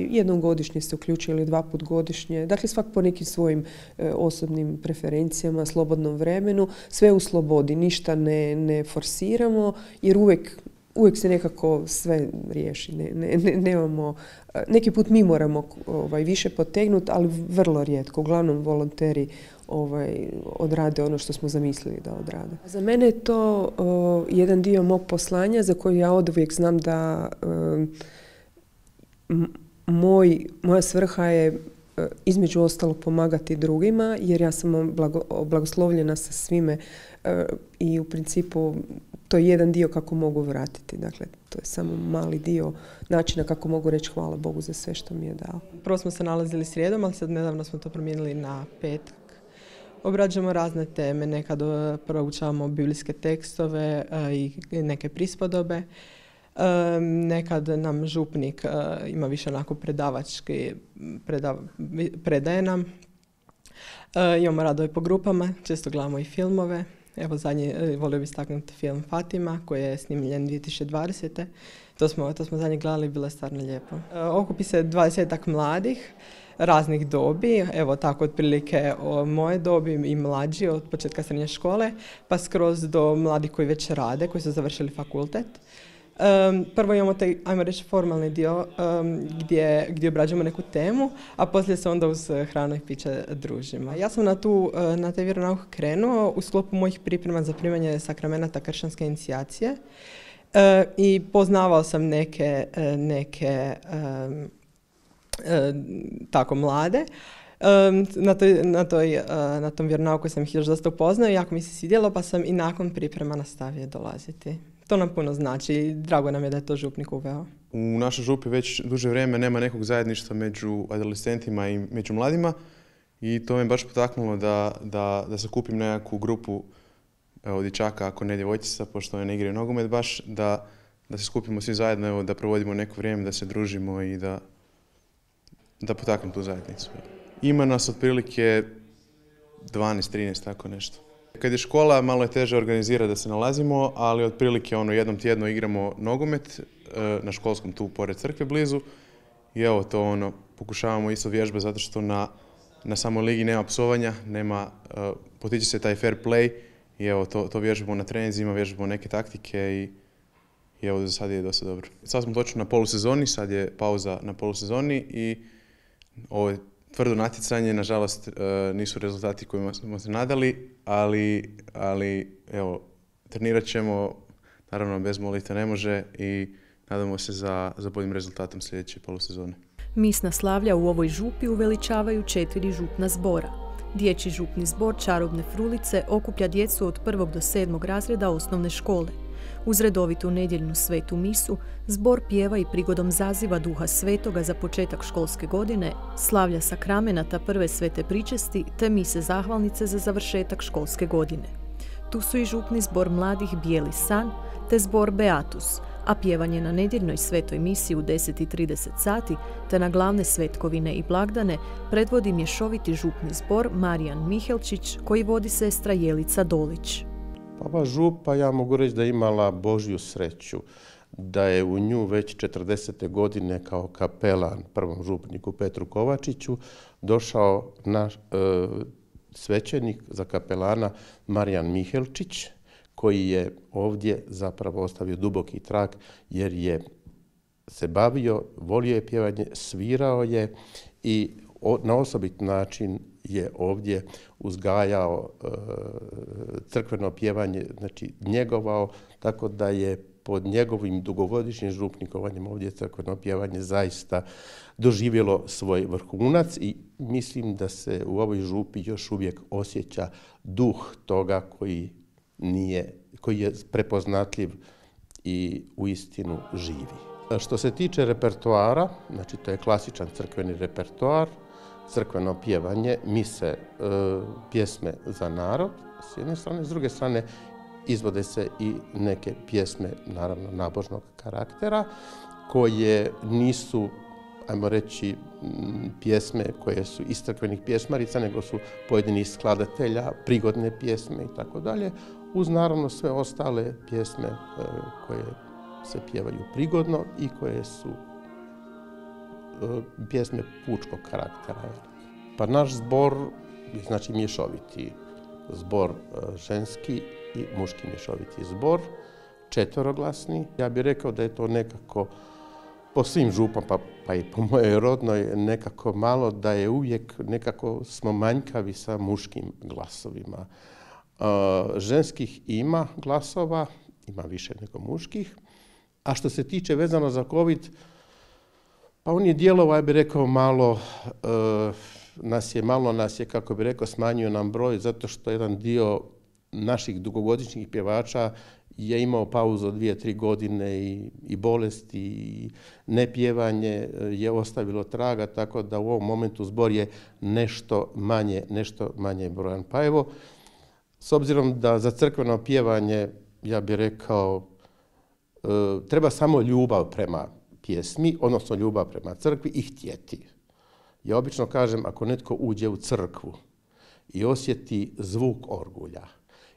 jednom godišnje se uključuju ili 2 puta godišnje, dakle svak po nekim svojim osobnim preferencijama, slobodnom vremenu, sve u slobodi, ništa ne forsiramo, jer uvijek uvijek se nekako sve riješi. Nemamo, neki put mi moramo više potegnuti, ali vrlo rijetko. Uglavnom volonteri odrade ono što smo zamislili da odrade. Za mene je to jedan dio mog poslanja za koji ja oduvijek znam da moja svrha je između ostalog pomagati drugima, jer ja sam blagoslovljena sa svime i u principu to je jedan dio kako mogu vratiti. Dakle, to je samo mali dio načina kako mogu reći hvala Bogu za sve što mi je dao. Prvo smo se nalazili srijedom, ali sad nedavno smo to promijenili na petak. Obrađujemo razne teme, nekad proučavamo biblijske tekstove i neke prispodobe. Nekad nam župnik ima više onako predavački, predaje nam. Imamo radove po grupama, često gledamo i filmove. Evo zadnji, volio bih istaknuti film Fatima koji je snimljen 2020. To smo zadnji gledali, bilo je stvarno lijepo. Okupi se 20-ak mladih raznih dobi, evo tako otprilike o moje dobi i mlađi od početka srednje škole, pa skroz do mladih koji već rade, koji su završili fakultet. Prvo imamo taj, ajmo reći, formalni dio gdje obrađujemo neku temu, a poslije se onda uz hranu i piće družimo. Ja sam na taj vjeronauk krenuo u sklopu mojih priprema za primanje sakramenata kršćanske inicijacije i poznavao sam neke tako mlade. Na tom vjeronauku sam ih još dosta upoznao i jako mi se svidjelo, pa sam i nakon priprema nastavio dolaziti. To nam puno znači i drago nam je da je to župnik uveo. U našoj župi već duže vrijeme nema nekog zajedništva među adolescentima i među mladima i to me baš potaknulo da se kupim nekakvu grupu dječaka, ako ne djevojčica, pošto one ne igraju nogomet, baš da se skupimo svi zajedno, da provodimo neko vrijeme, da se družimo i da potaknem tu zajednicu. Ima nas otprilike 12-13, tako nešto. Kad je škola, malo je teže organizirati da se nalazimo, ali otprilike jednom tjedno igramo nogomet na školskom tu pored crkve blizu i evo to pokušavamo isto vježbe zato što na samoj ligi nema psovanja, potiče se taj fair play i evo to vježbamo na treninzima, vježbamo neke taktike i evo za sad je dosta dobro. Sad smo točno na polusezoni, sad je pauza na polusezoni i ovo je tvrdo natjecanje, nažalost nisu rezultati kojima smo se nadali, ali evo, trenirat ćemo, naravno bez molitve ne može i nadamo se za boljim rezultatom sljedeće polusezone. Misna slavlja u ovoj župi uveličavaju 4 župna zbora. Dječji župni zbor Čarobne frulice okuplja djecu od 1. do 7. razreda osnovne škole. Uz redovitu nedjeljnu svetu misu, zbor pjeva i prigodom zaziva Duha Svetoga za početak školske godine, slavlja sakramenata prve svete pričesti te mise zahvalnice za završetak školske godine. Tu su i župni zbor mladih Bijeli san te zbor Beatus, a pjevanje na nedjeljnoj svetoj misi u 10:30 sati te na glavne svetkovine i blagdane predvodi mješoviti župni zbor Marijan Mihelčić koji vodi sestra Jelica Dolić. Ova župa, ja mogu reći da je imala Božju sreću, da je u nju već 40. godine kao kapelan prvom župniku Petru Kovačiću došao naš svećenik za kapelana Marijan Mihelčić, koji je ovdje zapravo ostavio duboki trag jer je se bavio, volio je pjevanje, svirao je i na osobit način je ovdje uzgajao crkveno pjevanje, znači njegovao, tako da je pod njegovim dugogodišnjim župnikovanjem ovdje crkveno pjevanje zaista doživjelo svoj vrhunac i mislim da se u ovoj župi još uvijek osjeća duh toga koji je prepoznatljiv i uistinu živi. Što se tiče repertoara, znači to je klasičan crkveni repertoar, crkveno pjevanje, mise, pjesme za narod, s jedne strane, s druge strane izvode se i neke pjesme, naravno, nabožnog karaktera, koje nisu, ajmo reći, pjesme koje su iz crkvenih pjesmarica, nego su pojedinih skladatelja, prigodne pjesme i tako dalje, uz naravno sve ostale pjesme koje se pjevaju prigodno i koje su pjesme pučkog karaktera. Pa naš zbor je znači mješoviti zbor, ženski i muški mješoviti zbor. četveroglasni. Ja bih rekao da je to nekako po svim župama, pa i po mojoj rodnoj, nekako malo da je uvijek nekako smo manjkavi sa muškim glasovima. Ženskih ima glasova, ima više nego muških. A što se tiče vezano za COVID, pa on je djelovao, ja bih rekao, malo nas je, kako bih rekao, smanjio nam broj, zato što jedan dio naših dugogodišnjih pjevača je imao pauzu od 2-3 godine i bolesti i nepjevanje je ostavilo traga, tako da u ovom momentu zbor je nešto manje brojan. Pa evo, s obzirom da za crkveno pjevanje, ja bih rekao, treba samo ljubav prema pjesmi, odnosno ljubav prema crkvi i htjeti. Ja obično kažem, ako netko uđe u crkvu i osjeti zvuk orgulja,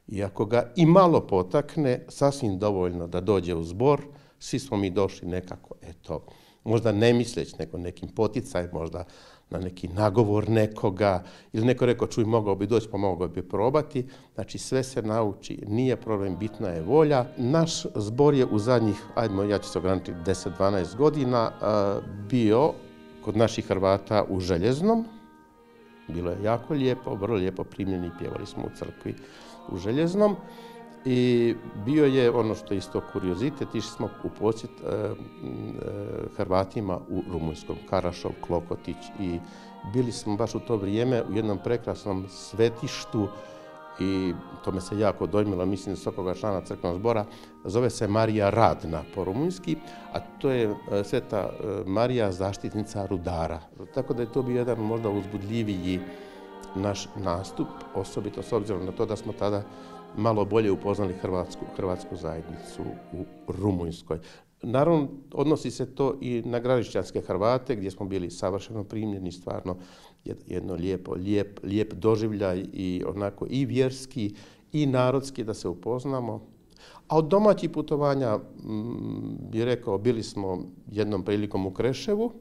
i ako ga i malo potakne, sasvim dovoljno da dođe u zbor, svi smo mi došli nekako, eto, možda ne misleć, nego nekim poticaj, možda na neki nagovor nekoga, ili neko rekao, čuj, mogao bi doći, pa mogao bi probati. Znači, sve se nauči, nije problem, bitna je volja. Naš zbor je u zadnjih, ja ću se ograničiti, 10-12 godina bio kod naših Hrvata u Željeznom. Bilo je jako lijepo, vrlo lijepo primljeni, pjevali smo u crkvi u Željeznom. I bio je ono što je isto kuriozitet, išli smo u posjet Hrvatima u Rumunjskom, Karašov, Klokotić, i bili smo baš u to vrijeme u jednom prekrasnom svetištu i to me se jako dojmilo, mislim da svakoga člana crkvenog zbora, zove se Marija Radna po rumunjski, a to je Sveta Marija, zaštitnica rudara. Tako da je to bio jedan možda uzbudljiviji naš nastup, osobito s obzirom na to da smo tada malo bolje upoznali hrvatsku zajednicu u Rumunjskoj. Naravno, odnosi se to i na gradišćanske Hrvate, gdje smo bili savršeno primljeni, stvarno jedno lijep doživljaj i onako i vjerski i narodski da se upoznamo. A od domaćih putovanja, bih rekao, bili smo jednom prilikom u Kreševu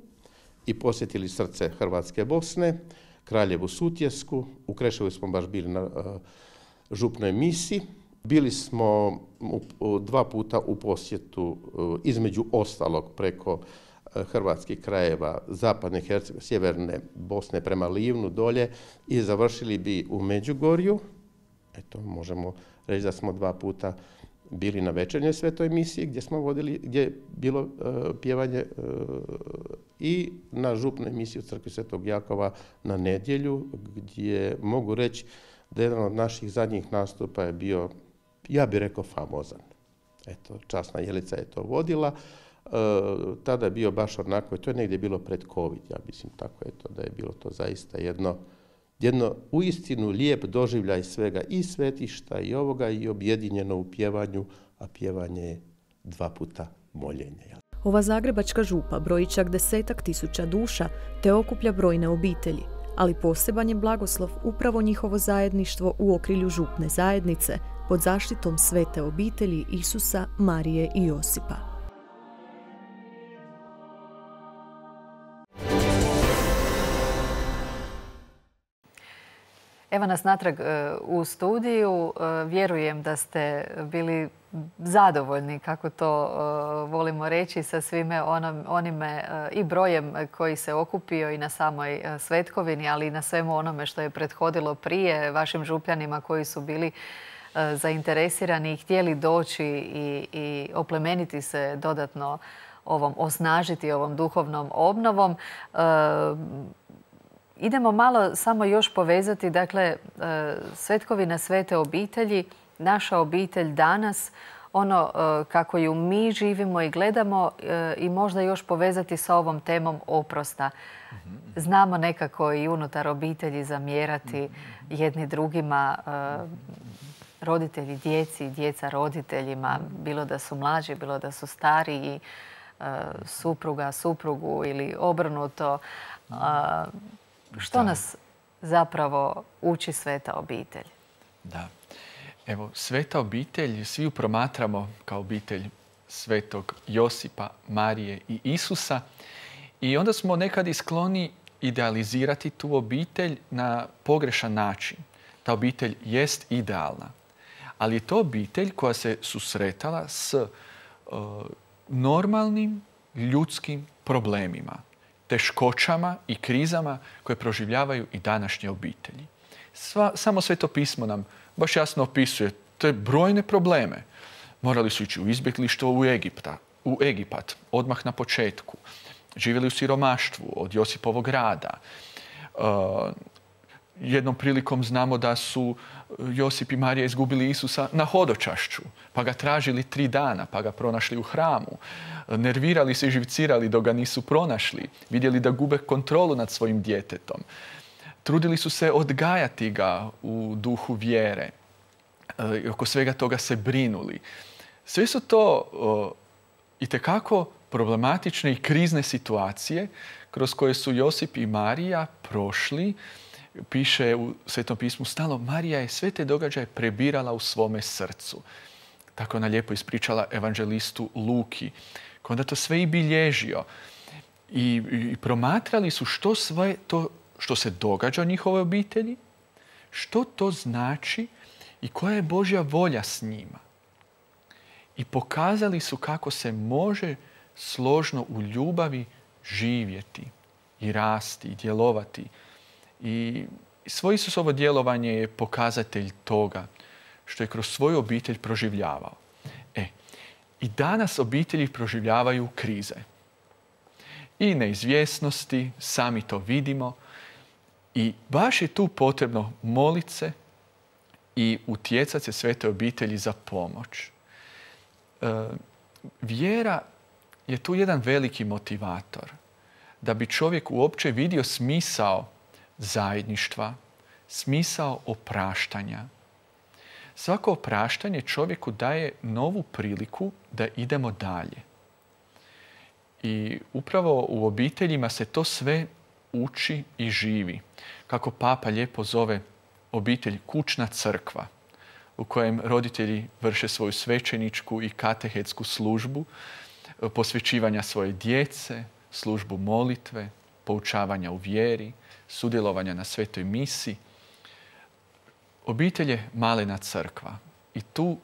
i posjetili srce Hrvatske Bosne, Kraljevu Sutjesku. U Kreševu smo baš bili na župnoj misi. Bili smo 2 puta u posjetu, između ostalog preko hrvatskih krajeva, zapadne Hercegovine, sjeverne Bosne prema Livnu dolje, i završili bi u Međugorju. Eto, možemo reći da smo 2 puta bili na večernjoj svetoj misiji gdje je bilo pjevanje, i na župnoj misiji u crkvi Svetog Jakova na nedjelju, gdje mogu reći da jedan od naših zadnjih nastupa je bio, ja bih rekao, famozan. Eto, časna Jelica je to vodila. Tada je bio baš onako, to je negdje bilo pred COVID, ja mislim tako, eto, da je bilo to zaista jedno uistinu lijep doživljaj svega, i svetišta i ovoga, i objedinjeno u pjevanju, a pjevanje je 2 puta moljenje. Ova zagrebačka župa broji čak 10-ak tisuća duša te okuplja brojne obitelji, ali poseban je blagoslov upravo njihovo zajedništvo u okrilju župne zajednice pod zaštitom svete obitelji Isusa, Marije i Josipa. Evo nas natrag u studiju. Vjerujem da ste bili zadovoljni, kako to volimo reći, sa svime onime i brojem koji se okupio i na samoj svetkovini, ali i na svemu onome što je prethodilo prije, vašim župljanima koji su bili zainteresirani i htjeli doći i oplemeniti se dodatno osnažiti ovom duhovnom obnovom. Idemo malo samo još povezati, dakle, svetkovina svete obitelji, naša obitelj danas, ono kako ju mi živimo i gledamo, i možda još povezati sa ovom temom oprosta. Znamo nekako i unutar obitelji zamjerati jedni drugima, roditelji djeci, djeca roditeljima, bilo da su mlađi, bilo da su stariji, supruga suprugu ili obrnuto. Što nas zapravo uči sveta obitelj? Da. Evo, sveta obitelj, svi ju promatramo kao obitelj svetog Josipa, Marije i Isusa. I onda smo nekad i skloni idealizirati tu obitelj na pogrešan način. Ta obitelj jest idealna, Ali je to obitelj koja se susretala s normalnim ljudskim problemima, teškoćama i krizama koje proživljavaju i današnje obitelji. Samo Sveto pismo nam baš jasno opisuje te brojne probleme. Morali su ići u izbjeglištvo u Egipat, odmah na početku. Živjeli u siromaštvu od Josipovog rada. Jednom prilikom znamo da su Josip i Marija izgubili Isusa na hodočašću, pa ga tražili 3 dana, pa ga pronašli u hramu. Nervirali se i živcirali dok ga nisu pronašli. Vidjeli da gube kontrolu nad svojim djetetom. Trudili su se odgajati ga u duhu vjere. Oko svega toga se brinuli. Sve su to itekako problematične i krizne situacije kroz koje su Josip i Marija prošli. Piše u Svetom pismu stalno, Marija je sve te događaje prebirala u svome srcu. Tako ona lijepo ispričala evanđelistu Luki, koji onda to sve i bilježio. I promatrali su što sve to što se događa u njihovoj obitelji, što to znači i koja je Božja volja s njima. I pokazali su kako se može složno u ljubavi živjeti i rasti i djelovati. I svoje Isusovo djelovanje je pokazatelj toga što je kroz svoju obitelj proživljavao. I danas obitelji proživljavaju krize. I neizvjesnosti, sami to vidimo. I baš je tu potrebno moliti se i utjecati se svete obitelji za pomoć. Vjera je tu jedan veliki motivator. Da bi čovjek uopće vidio smisao zajedništva, smisao opraštanja. Svako opraštanje čovjeku daje novu priliku da idemo dalje. I upravo u obiteljima se to sve uči i živi. Kako Papa lijepo zove obitelj kućna crkva, u kojem roditelji vrše svoju svećeničku i katehetsku službu, posvećivanja svoje djece, službu molitve, poučavanja u vjeri, sudjelovanja na svetoj misi. Obitelj je malena crkva i tu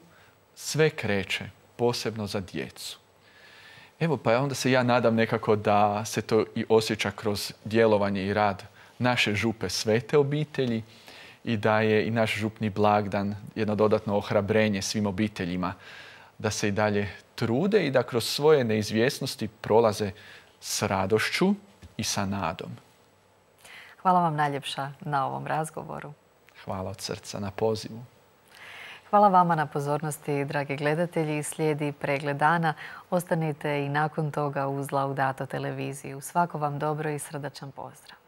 sve kreće, posebno za djecu. Evo, pa onda se ja nadam nekako da se to i osjeća kroz djelovanje i rad naše župe svete obitelji i da je i naš župni blagdan jedno dodatno ohrabrenje svim obiteljima da se i dalje trude i da kroz svoje neizvjesnosti prolaze s radošću i sa nadom. Hvala vam najljepša na ovom razgovoru. Hvala od srca na pozivu. Hvala vama na pozornosti, dragi gledatelji. Slijedi pregled dana. Ostanite i nakon toga uz Laudato televiziju. Svako vam dobro i srdačan pozdrav.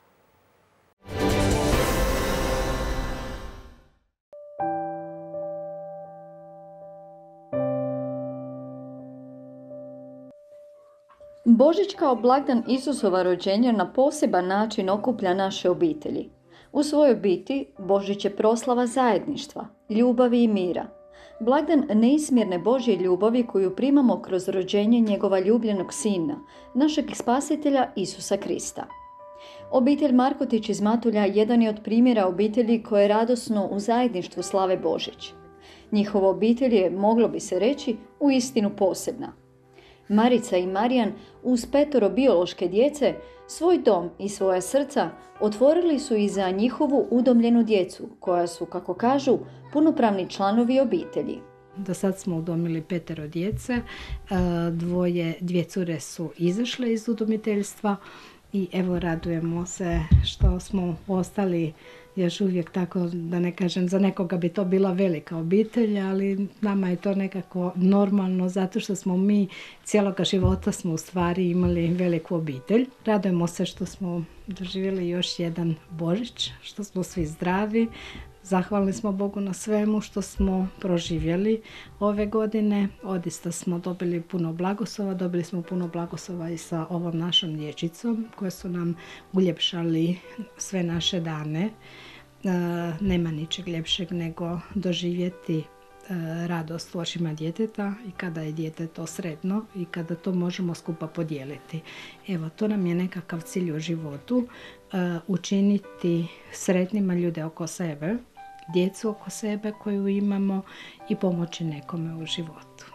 Božić kao blagdan Isusova rođenja na poseban način okuplja naše obitelji. U svojoj biti Božić je proslava zajedništva, ljubavi i mira. Blagdan neizmjerne Božje ljubavi koju primamo kroz rođenje njegova ljubljenog sina, našeg spasitelja Isusa Krista. Obitelj Markotić iz Matulja jedan je od primjera obitelji koje radosno u zajedništvu slave Božić. Njihova obitelj je, moglo bi se reći, uistinu posebna. Marica i Marijan uz 5 biološke djece svoj dom i svoja srca otvorili su i za njihovu udomljenu djecu, koja su, kako kažu, punopravni članovi obitelji. Do sad smo udomili 5 djece, 2 cure su izašle iz udomiteljstva i evo radujemo se što smo ostali još uvijek tako, da ne kažem, za nekoga bi to bila velika obitelj, ali nama je to nekako normalno zato što smo mi cijeloga života smo u stvari imali veliku obitelj. Radujemo se što smo doživjeli još jedan Božić, što smo svi zdravi. Zahvalni smo Bogu na svemu što smo proživjeli ove godine. Odista smo dobili puno blagoslova, dobili smo puno blagoslova i sa ovom našom dječicom koje su nam uljepšali sve naše dane. Nema ničeg ljepšeg nego doživjeti radost u očima djeteta i kada je dijete to sretno i kada to možemo skupa podijeliti. Evo, to nam je nekakav cilj u životu, učiniti sretnima ljude oko sebe djecu oko sebe koju imamo i pomoći nekome u životu.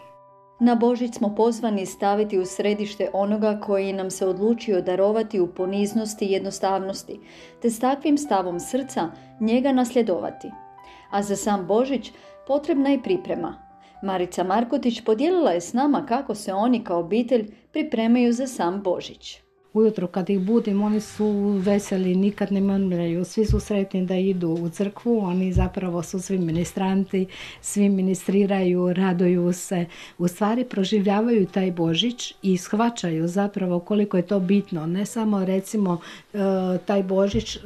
Na Božić smo pozvani staviti u središte onoga koji nam se odlučio darovati u poniznosti i jednostavnosti, te s takvim stavom srca njega nasljedovati. A za sam Božić potrebna je priprema. Marica Markotić podijelila je s nama kako se oni kao obitelj pripremaju za sam Božić. Ujutro kad ih budim, oni su veseli, nikad ne mrmljaju, svi su sretni da idu u crkvu, oni zapravo su svi ministranti, svi ministriraju, raduju se, u stvari proživljavaju taj Božić i shvaćaju zapravo koliko je to bitno, ne samo recimo taj Božić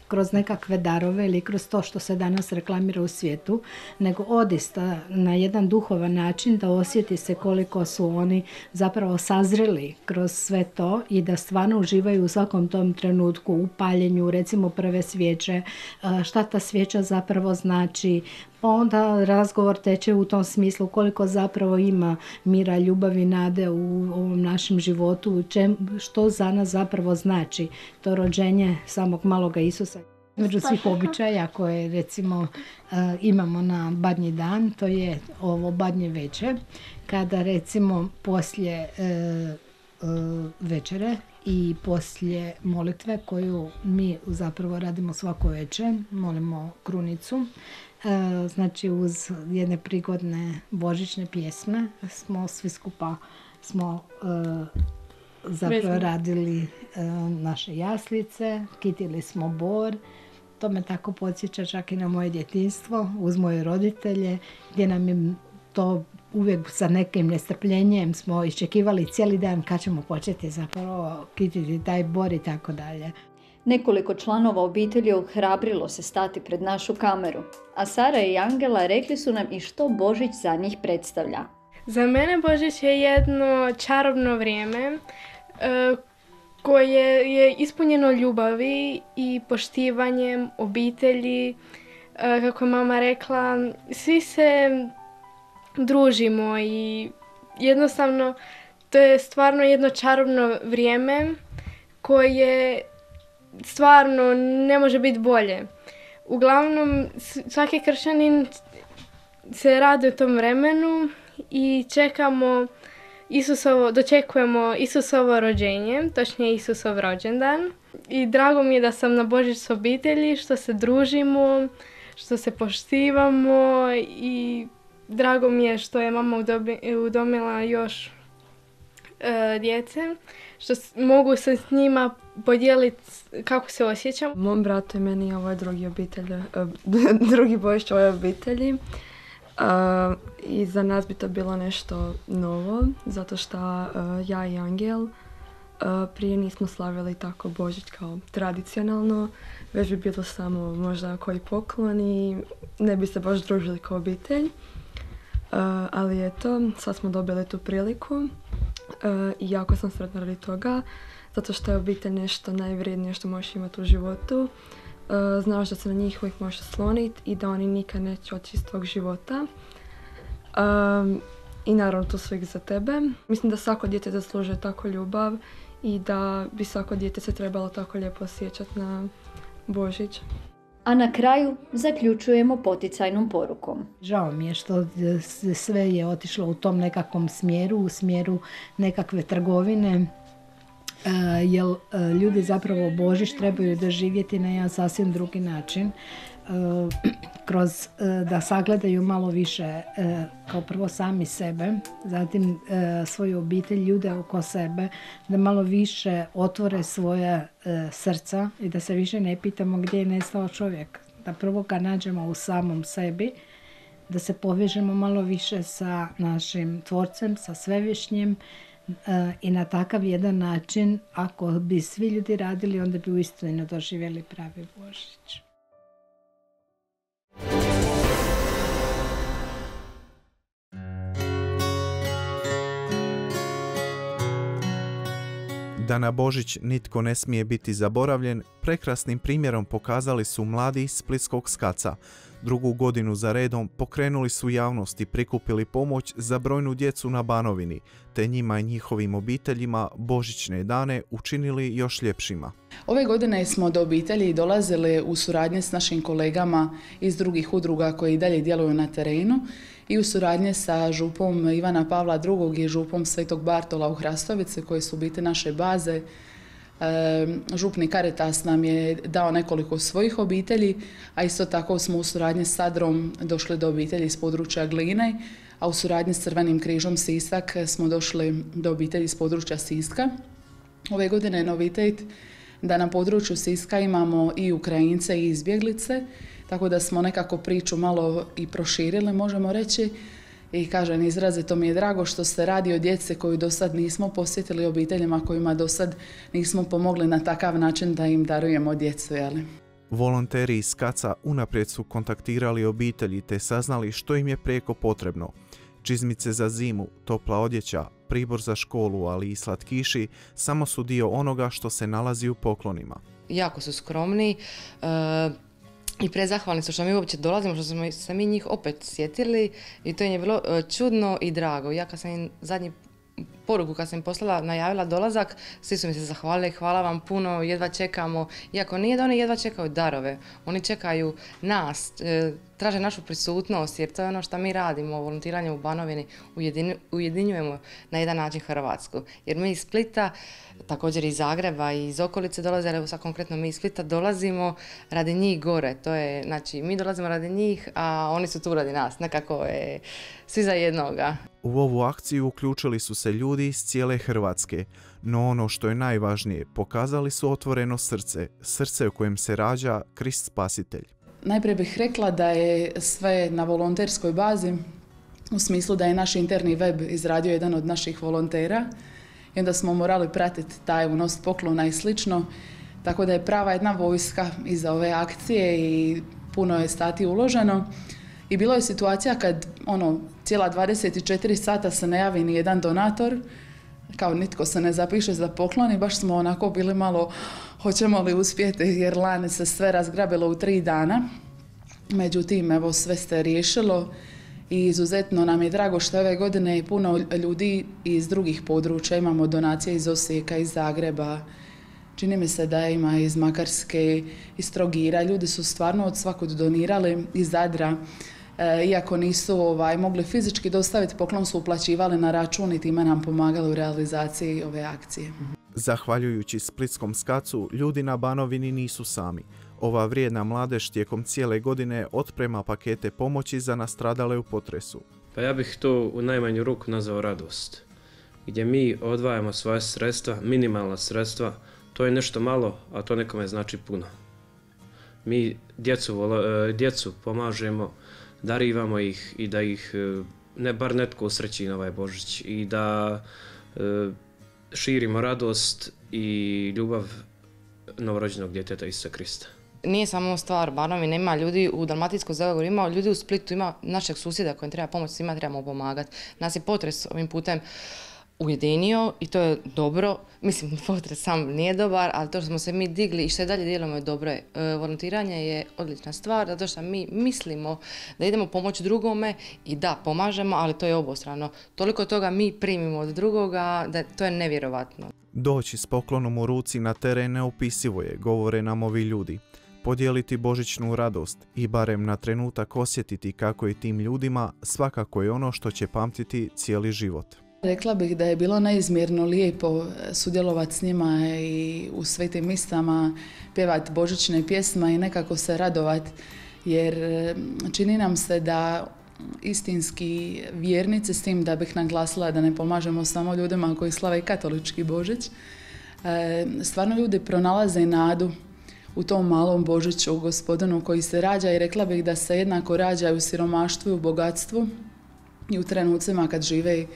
kroz nekakve darove ili kroz to što se danas reklamira u svijetu, nego odista na jedan duhovan način da osjeti se koliko su oni zapravo sazreli kroz sve to i da stvarno uživaju u svakom tom trenutku u paljenju, recimo prve svijeće, šta ta svijeća zapravo znači, pa onda razgovor teče u tom smislu koliko zapravo ima mira, ljubavi, nade u ovom našem životu, što za nas zapravo znači to rođenje samog maloga Isusa. Među svih običaja koje recimo imamo na Badnji dan, to je ovo Badnje večer, kada recimo poslije večere i poslije molitve koju mi zapravo radimo svako večer, molimo krunicu, znači uz jedne prigodne božićne pjesme smo svi skupa zapravo radili naše jaslice, kitili smo bor. To me tako podsjeća čak i na moje djetinjstvo uz moje roditelje, gdje nam je to uvijek sa nekim nestrpljenjem smo iščekivali cijeli dan kad ćemo početi zapravo kititi taj bor i tako dalje. Nekoliko članova obitelji ohrabrilo se stati pred našu kameru, a Sara i Angela rekli su nam i što Božić za njih predstavlja. Za mene Božić je jedno čarobno vrijeme koje je ispunjeno ljubavi i poštivanjem obitelji. Kako je mama rekla, svi se družimo i jednostavno to je stvarno jedno čarobno vrijeme koje stvarno ne može biti bolje. Uglavnom, svaki kršćanin se radi u tom vremenu i dočekujemo Isusovo rođenje, točnije Isusov rođendan. I drago mi je da sam na Božić s obitelji, što se družimo, što se poštivamo i drago mi je što je mama udomila još djece, što mogu se s njima podijeliti kako se osjećam. Mom bratu i meni ovo je drugi Božić ove obitelji. I za nas bi to bilo nešto novo, zato što ja i Angel prije nismo slavili tako Božić kao tradicionalno, već bi bilo samo možda koji poklon i ne bi se baš družili kao obitelj. Ali eto, sad smo dobili tu priliku i jako sam sretna radi toga, zato što je obitelj nešto najvrijednije što možeš imati u životu. Znaš da se na njih uvijek možeš osloniti i da oni nikad neće otići iz tvog života. I naravno to sve za tebe. Mislim da svako dijete zaslužuje tako ljubav i da bi svako dijete se trebalo tako lijepo osjećati na Božić. A na kraju zaključujemo poticajnom porukom. Žao mi je što sve je otišlo u tom nekakvom smjeru, u smjeru nekakve trgovine, jer ljudi zapravo Božić trebaju doživjeti na jedan sasvim drugi način, kroz da sagledaju malo više kao prvo sami sebe, zatim svoju obitelj, ljude oko sebe, da malo više otvore svoje srca i da se više ne pitamo gdje je nestao čovjek, da prvo ga nađemo u samom sebi, da se povežemo malo više sa našim tvorcem, sa svevišnjim, i na takav jedan način, ako bi svi ljudi radili, onda bi uistinu doživjeli pravi Božić. Da na Božić nitko ne smije biti zaboravljen, prekrasnim primjerom pokazali su mladi iz splitskog SKAC-a. Drugu godinu za redom pokrenuli su javnost i prikupili pomoć za brojnu djecu na Banovini, te njima i njihovim obiteljima božićne dane učinili još ljepšima. Ove godine smo do obitelji dolazili u suradnji s našim kolegama iz drugih udruga koji dalje djeluju na terenu i u suradnji sa župom Ivana Pavla II i župom Svetog Bartola u Hrastovici koji su biti naše baze. Župni Caritas nam je dao nekoliko svojih obitelji, a isto tako smo u suradnji s Sadrom došli do obitelji iz područja Gline, a u suradnji s Crvenim križom Sisak smo došli do obitelji iz područja Siska. Ove godine je novitet da na području Siska imamo i Ukrajince i izbjeglice, tako da smo nekako priču malo i proširili, možemo reći. I kažem, izrazito mi je drago što se radi o djece koju do sad nismo posjetili, obiteljima kojima do sad nismo pomogli na takav način da im darujemo djecu. Jeli? Volonteri iz Kaca unaprijed su kontaktirali obitelji te saznali što im je prijeko potrebno. Čizmice za zimu, topla odjeća, pribor za školu, ali i slatkiši samo su dio onoga što se nalazi u poklonima. Jako su skromni i prezahvalni su što mi uopće dolazimo, što smo se mi njih opet sjetili i to im je bilo čudno i drago. Ja kad sam im zadnji poruku kad sam im poslala, najavila dolazak, svi su mi se zahvalili, hvala vam puno, jedva čekamo. Iako nije da oni jedva čekaju darove, oni čekaju nas, traže našu prisutnost jer to je ono što mi radimo, volontiranje u Banovini, ujedinjujemo na jedan način Hrvatsku. Jer mi iz Splita, također iz Zagreba i iz okolice dolaze, ali sad konkretno mi iz Splita dolazimo radi njih gore. To je, znači, mi dolazimo radi njih, a oni su tu radi nas, nekako je svi za jednoga. U ovu akciju uključili su se ljudi iz cijele Hrvatske, no ono što je najvažnije, pokazali su otvoreno srce, srce u kojem se rađa Krist Spasitelj. Najprije bih rekla da je sve na volonterskoj bazi, u smislu da je naš interni web izradio jedan od naših volontera i onda smo morali pratiti taj unos poklona i slično, tako da je prava jedna vojska iza ove akcije i puno je sati uloženo. I bilo je situacija kad cijela 24 sata se ne javi ni jedan donator, kao nitko se ne zapiše za poklon i baš smo onako bili malo hoćemo li uspjeti jer lani se sve razgrabilo u 3 dana. Međutim, evo sve se riješilo i izuzetno nam je drago što ove godine puno ljudi iz drugih područja, imamo donacije iz Osijeka, iz Zagreba, čini mi se da ima iz Makarske, iz Trogira, ljudi su stvarno od svakog donirali, iz Zadra. Iako nisu mogli fizički dostaviti poklon, su uplaćivali na račun i time nam pomagali u realizaciji ove akcije. Zahvaljujući splitskom Skacu, ljudi na Banovini nisu sami. Ova vrijedna mladež tijekom cijele godine otprema pakete pomoći za nastradale u potresu. Pa ja bih to u najmanju ruku nazvao radost. Gdje mi odvajamo svoje sredstva, minimalna sredstva, to je nešto malo, a to nekome znači puno. Mi djecu pomažemo, darivamo ih i da ih ne bar netko usreći na ovaj Božić i da širimo radost i ljubav novorođenog djeteta Isusa Krista. Nije samo stvar Banovine, ima ljudi u Dalmatinskoj zagori, ima ljudi u Splitu, ima našeg susjeda kojem treba pomoć, svima trebamo pomagati. Nas je potres ovim putem ujedinio i to je dobro. Mislim, potres sam nije dobar, ali to što smo se mi digli i što je dalje djelujemo je dobro. Volontiranje je odlična stvar, zato što mi mislimo da idemo pomoći drugome i da, pomažemo, ali to je obostrano. Toliko toga mi primimo od drugoga da to je nevjerovatno. Doći s poklonom u ruci na teren neopisivo je, govore nam ovi ljudi. Podijeliti božićnu radost i barem na trenutak osjetiti kako je tim ljudima svakako je ono što će pamtiti cijeli život. Rekla bih da je bilo neizmjerno lijepo sudjelovati s njima i u svetim misama, pjevati božićne pjesme i nekako se radovati, jer čini nam se da istinski vjernici, s tim da bih naglasila da ne pomažemo samo ljudima koji slave katolički Božić, stvarno ljudi pronalaze nadu u tom malom Božiću, u Gospodinu koji se rađa i rekla bih da se jednako rađa u siromaštvu i u bogatstvu i u trenucima kad žive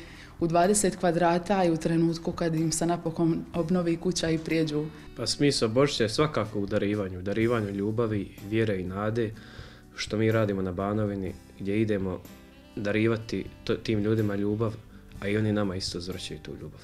u 20 kvadrata i u trenutku kad im se napokon obnovi kuća i prijeđu. Pa smisao Božića je svakako u darivanju ljubavi, vjere i nade, što mi radimo na Banovini, gdje idemo darivati tim ljudima ljubav, a i oni nama isto uzvraćaju tu ljubav.